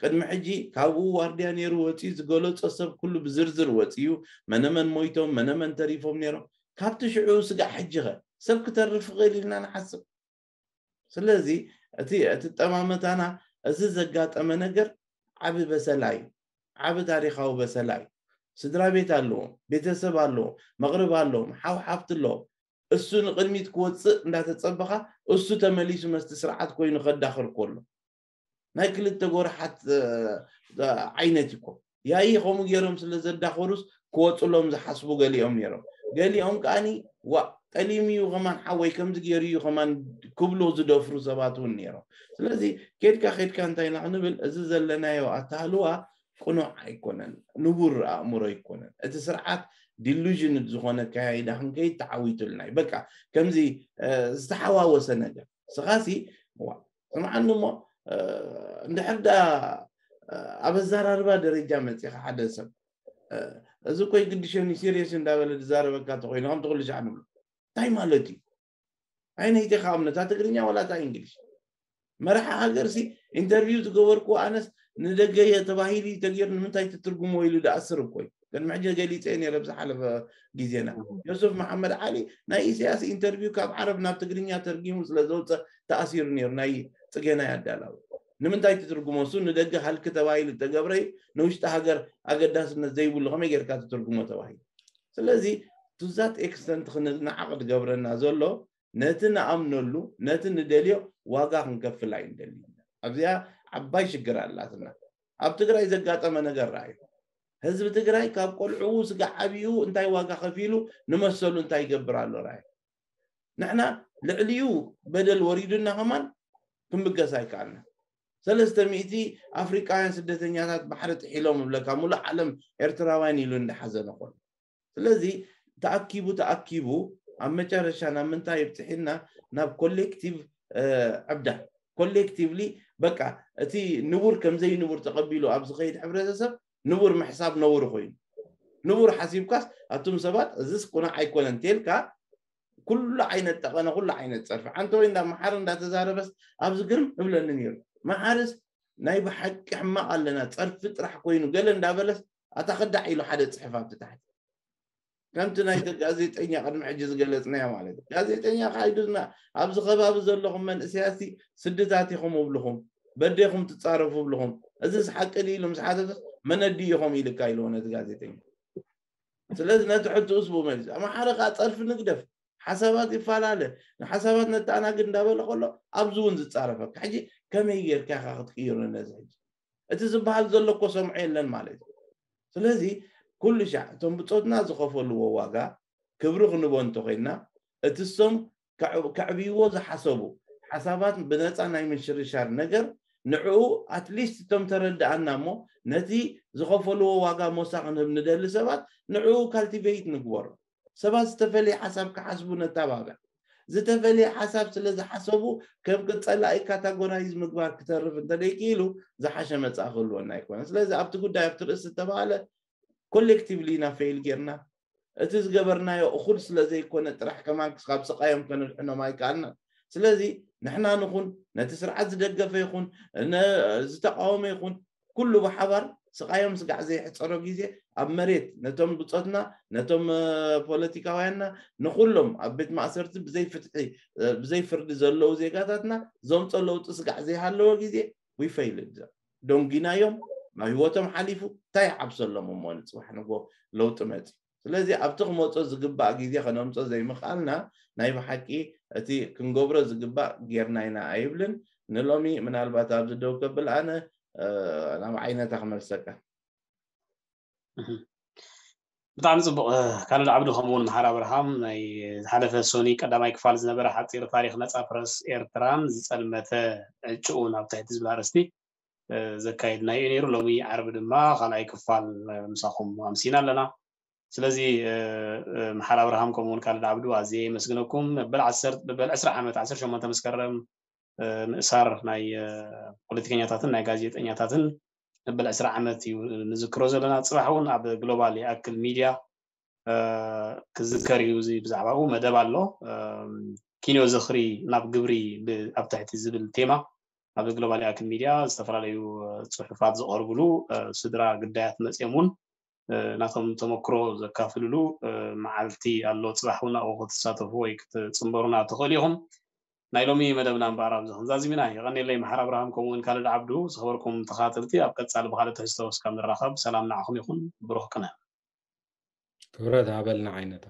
ቅድሚ ሕጂ ካብኡ ዋርድያ ነይሩ ወፂኡ ዝገለፆ ሰብ ኩሉ ብዝርዝር ወፂኡ፣ መነመን ሞይቶም መነመን ተሪፎም ነይሮም። ካብቲ ሽዑ ስጋዕ ሕጂ ኸ ሰብ ክተርፍ ይኽእል ኢልና ንሓስብ። ስለዚ እቲ እቲ ጠማመታና እዚ ዘጋጠመ ነገር ዓቢ በሰላ እዩ፣ ዓቢ ታሪኻዊ በሰላ እዩ። ስድራ ቤት ኣለዎም፣ ቤተሰብ ኣለዎም፣ መቕርብ ኣለዎም፣ ሓው ሓፍቲ ኣለዎም። እሱ ንቕድሚት ክወፅእ እንዳተፀበኻ እሱ ተመሊሱ መስቲ ስርዓት ኮይኑ ከዳኽር ከሎ ናይ ክልተ ጎርሓት ዓይነት እኮ። ያይ ከምኡ ገይሮም ስለ ዘዳኸሩስ ክወፅሎም ዝሓስቡ ገሊኦም ነይሮም። ገሊኦም ከዓኒ ዋ ጠሊሙ እዩ ከማን ሓወይ ከምዚ ገይሩ እዩ ከማን ክብሉ ዝደፍሩ ሰባት እውን ነይሮም። ስለዚ ኬድካ ኬድካ እንታይ ኢና ክንብል፣ እዚ ዘለናዮ ኣታህልዋ ቅኑዕ ኣይኮነን፣ ንቡር ኣእምሮ ኣይኮነን። እቲ ስርዓት ዲሉዥን ዝኾነ ኣካያይዳ ክንከይድ ተዓዊቱልና እዩ። በቃ ከምዚ ዝተሓዋወሰ ነገር ስኻሲ ዋ ስምዓኒ እሞ እንድሕር ዳ ኣብ ኣዘራርባ ደረጃ መፂኻ ሓደ ሰብ እዚ እኮ ይግድሸኒ ሲሪየስ እንዳበለ ዝዛረበካ ተኮይኑ ከምቲ ኩሉ ሻዕ ንብሎ እንታይ ማለት እዩ? ኣይነይቲ ከኣምነታ ትግርኛ ዋላ እታ እንግሊሽ መራሒ ሃገር ሲ ኢንተርቪው ዝገበርኩ ኣነስ ንደገ እየ ተባሂሉ ተገይሩ ንምንታይ ትትርጉሞ ኢሉ ደኣስር እኮ እዩ። ቅድሚ ሕጂ ገሊፀ ነይረ ብዝሓለፈ ግዜና ዮሱፍ መሓመድ ዓሊ ናይ ኢሳያስ ኢንተርቪው ካብ ዓረብ ናብ ትግርኛ ተርጊሙ ስለ ዘውፀ ተኣሲሩ ነይሩ። ናይ ፅገና ያዳላዊ ንምንታይ ትትርጉሞ እሱ ንደገ ሃልኪ ተባሂሉ ተገብረ ንውሽጢ ሃገር ኣገዳስነት ዘይብሉ ከመይ ጌርካ ትትርጉሞ ተባሂሉ። ስለዚ ቱዛት ኤክስተንት ክንናዓቕ ዝገብረና ዘሎ ነቲ ንኣምነሉ ነቲ ንደልዮ ዋጋ ክንከፍል ኣይንደሊ። ኣብዚኣ ዓባይ ሽግር ኣላትና። ኣብ ትግራይ ዘጋጠመ ነገር ረኣዩ። ህዝቢ ትግራይ ካብ ቆልዕኡ ስጋ ዓብኡ እንታይ ዋጋ ከፊሉ ንመሰሉ እንታይ ይገብር ኣሎ ረኣዩ። ንሕና ልዕሊኡ በደል ወሪዱና ከማን ክንብገስ ኣይከኣልና። ሰለስተ ሚእቲ ኣፍሪቃውያን ስደተኛታት ባሕሪ ጥሒሎም እብለካ ሙሉእ ዓለም ኤርትራውያን ኢሉ እንዳሓዘነ ኮሎ። ስለዚ ተኣኪቡ ተኣኪቡ ኣብ መጨረሻ ናብ ምንታይ ይብፅሒና? ናብ ኮሌክቲቭ ዕብዳ። ኮሌክቲቭሊ በቃ እቲ ንቡር ከምዘይ ንቡር ተቐቢሉ ኣብ ዝኸይድ ሕብረተሰብ ንቡር ምሕሳብ ነውሪ ኮይኑ ንቡር ሓሲብካስ ኣቱም ሰባት እዚስ ቁኑዕ ኣይኮነን ተልካ ኩሉ ዓይነት ጠቐነ ኩሉ ዓይነት ፀርፊ ዓንተ ወይ እንዳ መሓር እንዳተዛረበስ ኣብዚ ግርም እብለኒ ነይሩ። መሓርስ ናይ ብሓቂ ሕማቕ ኣለና ፀርፊ ጥራሕ ኮይኑ ገለ እንዳበለስ ኣታ ከዳዕ ኢሉ ሓደ ፅሕፍ ኣብቲ ታሕቲ ከምቲ ናይ ጋዜጠኛ ቅድሚ ሕጂ ዝገለፅናዮ ማለት እዩ። ጋዜጠኛ ካይዱና ኣብዚ ከባቢ ዘለኹም መንእሰያት ስድታት ኢኹም እብልኹም በዴኹም ትፃረፉ እብልኹም እዚስ ሓቂ ድዩ ኢሉ ምስ ሓተተስ መነዲ ኢኹም ኢልካ ኢልዎ ነቲ ጋዜጠኛ። ስለዚ ነቲ ሕትኡስ ብኡ መሊሱ ኣምሓረ ከዓ ፀርፊ ንግደፍ ሓሳባት ይፈላለ ንሓሳባት ነተኣናግድ እንዳበለ ከሎ ኣብዚ እውን ዝፃረፈካ ሕጂ ከመይ ጌርካ ኢኻ ክትቅይሮ ነዚ ሕጂ እቲ ዝበሃል ዘሎ እኮ ሰምዖ የለን ማለት እዩ። ስለዚ ኩሉ ሻዕ እቶም ብፆትና ዝኸፈልዎ ዋጋ ክብሪ ክንቦ እንተኮይንና እቲ ሶም ከዕብይዎ ዝሓሰቡ ሓሳባት ብነፃ ናይ ምሽርሻር ነገር ንዕኡ ኣትሊስት እቶም ተረድኣና እሞ ነቲ ዝኸፈልዎ ዋጋ ሞሳ ክንህብ ንደሊ ሰባት ንዕኡ ካልቲቬይት ንግበሮ። ሰባት ዝተፈለየ ሓሳብ ክሓስቡ ነተባብዕ። ዝተፈለየ ሓሳብ ስለ ዝሓሰቡ ከም ቅፀላኢ ካታጎራይዝ ምግባር ክተርፍ እንተደይክኢሉ ዝሓሸ መፃኢ ክህልወና ኣይኮነ። ስለዚ ኣብቲ ጉዳይ ኣብቲ ርእሲ ዝተባሃለ ኮሌክቲቭሊ ኢና ፌይል ጌርና። እቲ ዝገበርናዮ እኹል ስለ ዘይኮነ ጥራሕ ከማን ክስካብ ስቃዮም ከነድሕኖም ኣይከኣልናን። ስለዚ ንሕና ንኹን ነቲ ስርዓት ዝደገፈ ይኹን ዝተቃወመ ይኹን ኩሉ ብሓባር ስቓዮም ስጋዕ ዘይሕፀሮ ግዜ ኣብ መሬት ነቶም ብፆትና ነቶም ፖለቲካውያንና ንኩሎም ኣብ ቤት ማእሰርቲ ብዘይ ፍትሒ ብዘይ ፍርዲ ዘለዉ ዜጋታትና ዘምፆ ለውጢ ስጋዕ ዘይሃለዎ ግዜ ዊፈይልድ ደንጊናዮም ናብ ህይወቶም ሓሊፉ እንታይ ይዓብሰሎም እሞ ንፅባሕ ንጎ ለውጢ መፂ ስለዚ ኣብቲ ክመፆ ዝግባእ ግዜ ከነምፆ ዘይምኽኣልና ናይ ብሓቂ እቲ ክንገብሮ ዝግባእ ጌርና ኢና ኣይብልን ንሎሚ ምናልባት ኣብዚ ደው ከብል ኣነ ናብ ዓይነታ ክመልሰካ ብጣዕሚ ፅቡቅ ካልድ ዓብዱ ከምኡውን መሓር ኣብርሃም ናይ ዝሓለፈ ሶኒ ቀዳማይ ክፋል ዝነበረ ሓፂር ታሪክ ነፃ ፕረስ ኤርትራን ዝፀልመተ ዕጭኡ ናብ ትሕቲ ዝብል ኣርእስቲ ዘካየድናዮ ነይሩ ሎሚ ዓርቢ ድማ ካልኣይ ክፋል ምሳኹም ኣምሲና ኣለና ስለዚ መሓር ኣብርሃም ከምኡውን ካልድ ዓብዱ ኣዝየ የመስግነኩም መበል መበል ዕስራ ዓመት ዓሰርተ ሸሞንተ መስከረም ምእሳር ናይ ፖለቲከኛታትን ናይ ጋዜጠኛታትን መበል ዕስራ ዓመት እዩ ንዝክሮ ዘለና ፅባሕ እውን ኣብ ግሎባል ይኣክል ሚድያ ክዝከር እዩ እዚ ብዛዕባኡ መደብ ኣሎ ኪንዮ ዝኽሪ ናብ ግብሪ ኣብ ትሕቲ ዝብል ቴማ ኣብ ግሎባል ይኣክል ሚድያ ዝተፈላለዩ ፅሑፋት ዝቐርብሉ ስድራ ግዳያት መፅኦም እውን ናቶም ተመክሮ ዘካፍልሉ መዓልቲ ኣሎ ፅባሕ እውን ኣብኡ ክትሳተፉ ወይ ክትፅንበሩና ትኽእሉ ኢኹም ናይ ሎሚ መደብና እምበኣር ኣብዚ ክንዛዝም ኢና የቐኔለይ መሓር ኣብርሃም ከምኡውን ካልድ ዓብዱ ዝኸበርኩም ተኻተልቲ ኣብ ቀፃሊ ብካልእ ትሕዝቶ እስካብ ንራኸብ ሰላም ንዓኹም ይኹን ብሩኽ ቅነ ክብረት ሃበልና ዓይነታ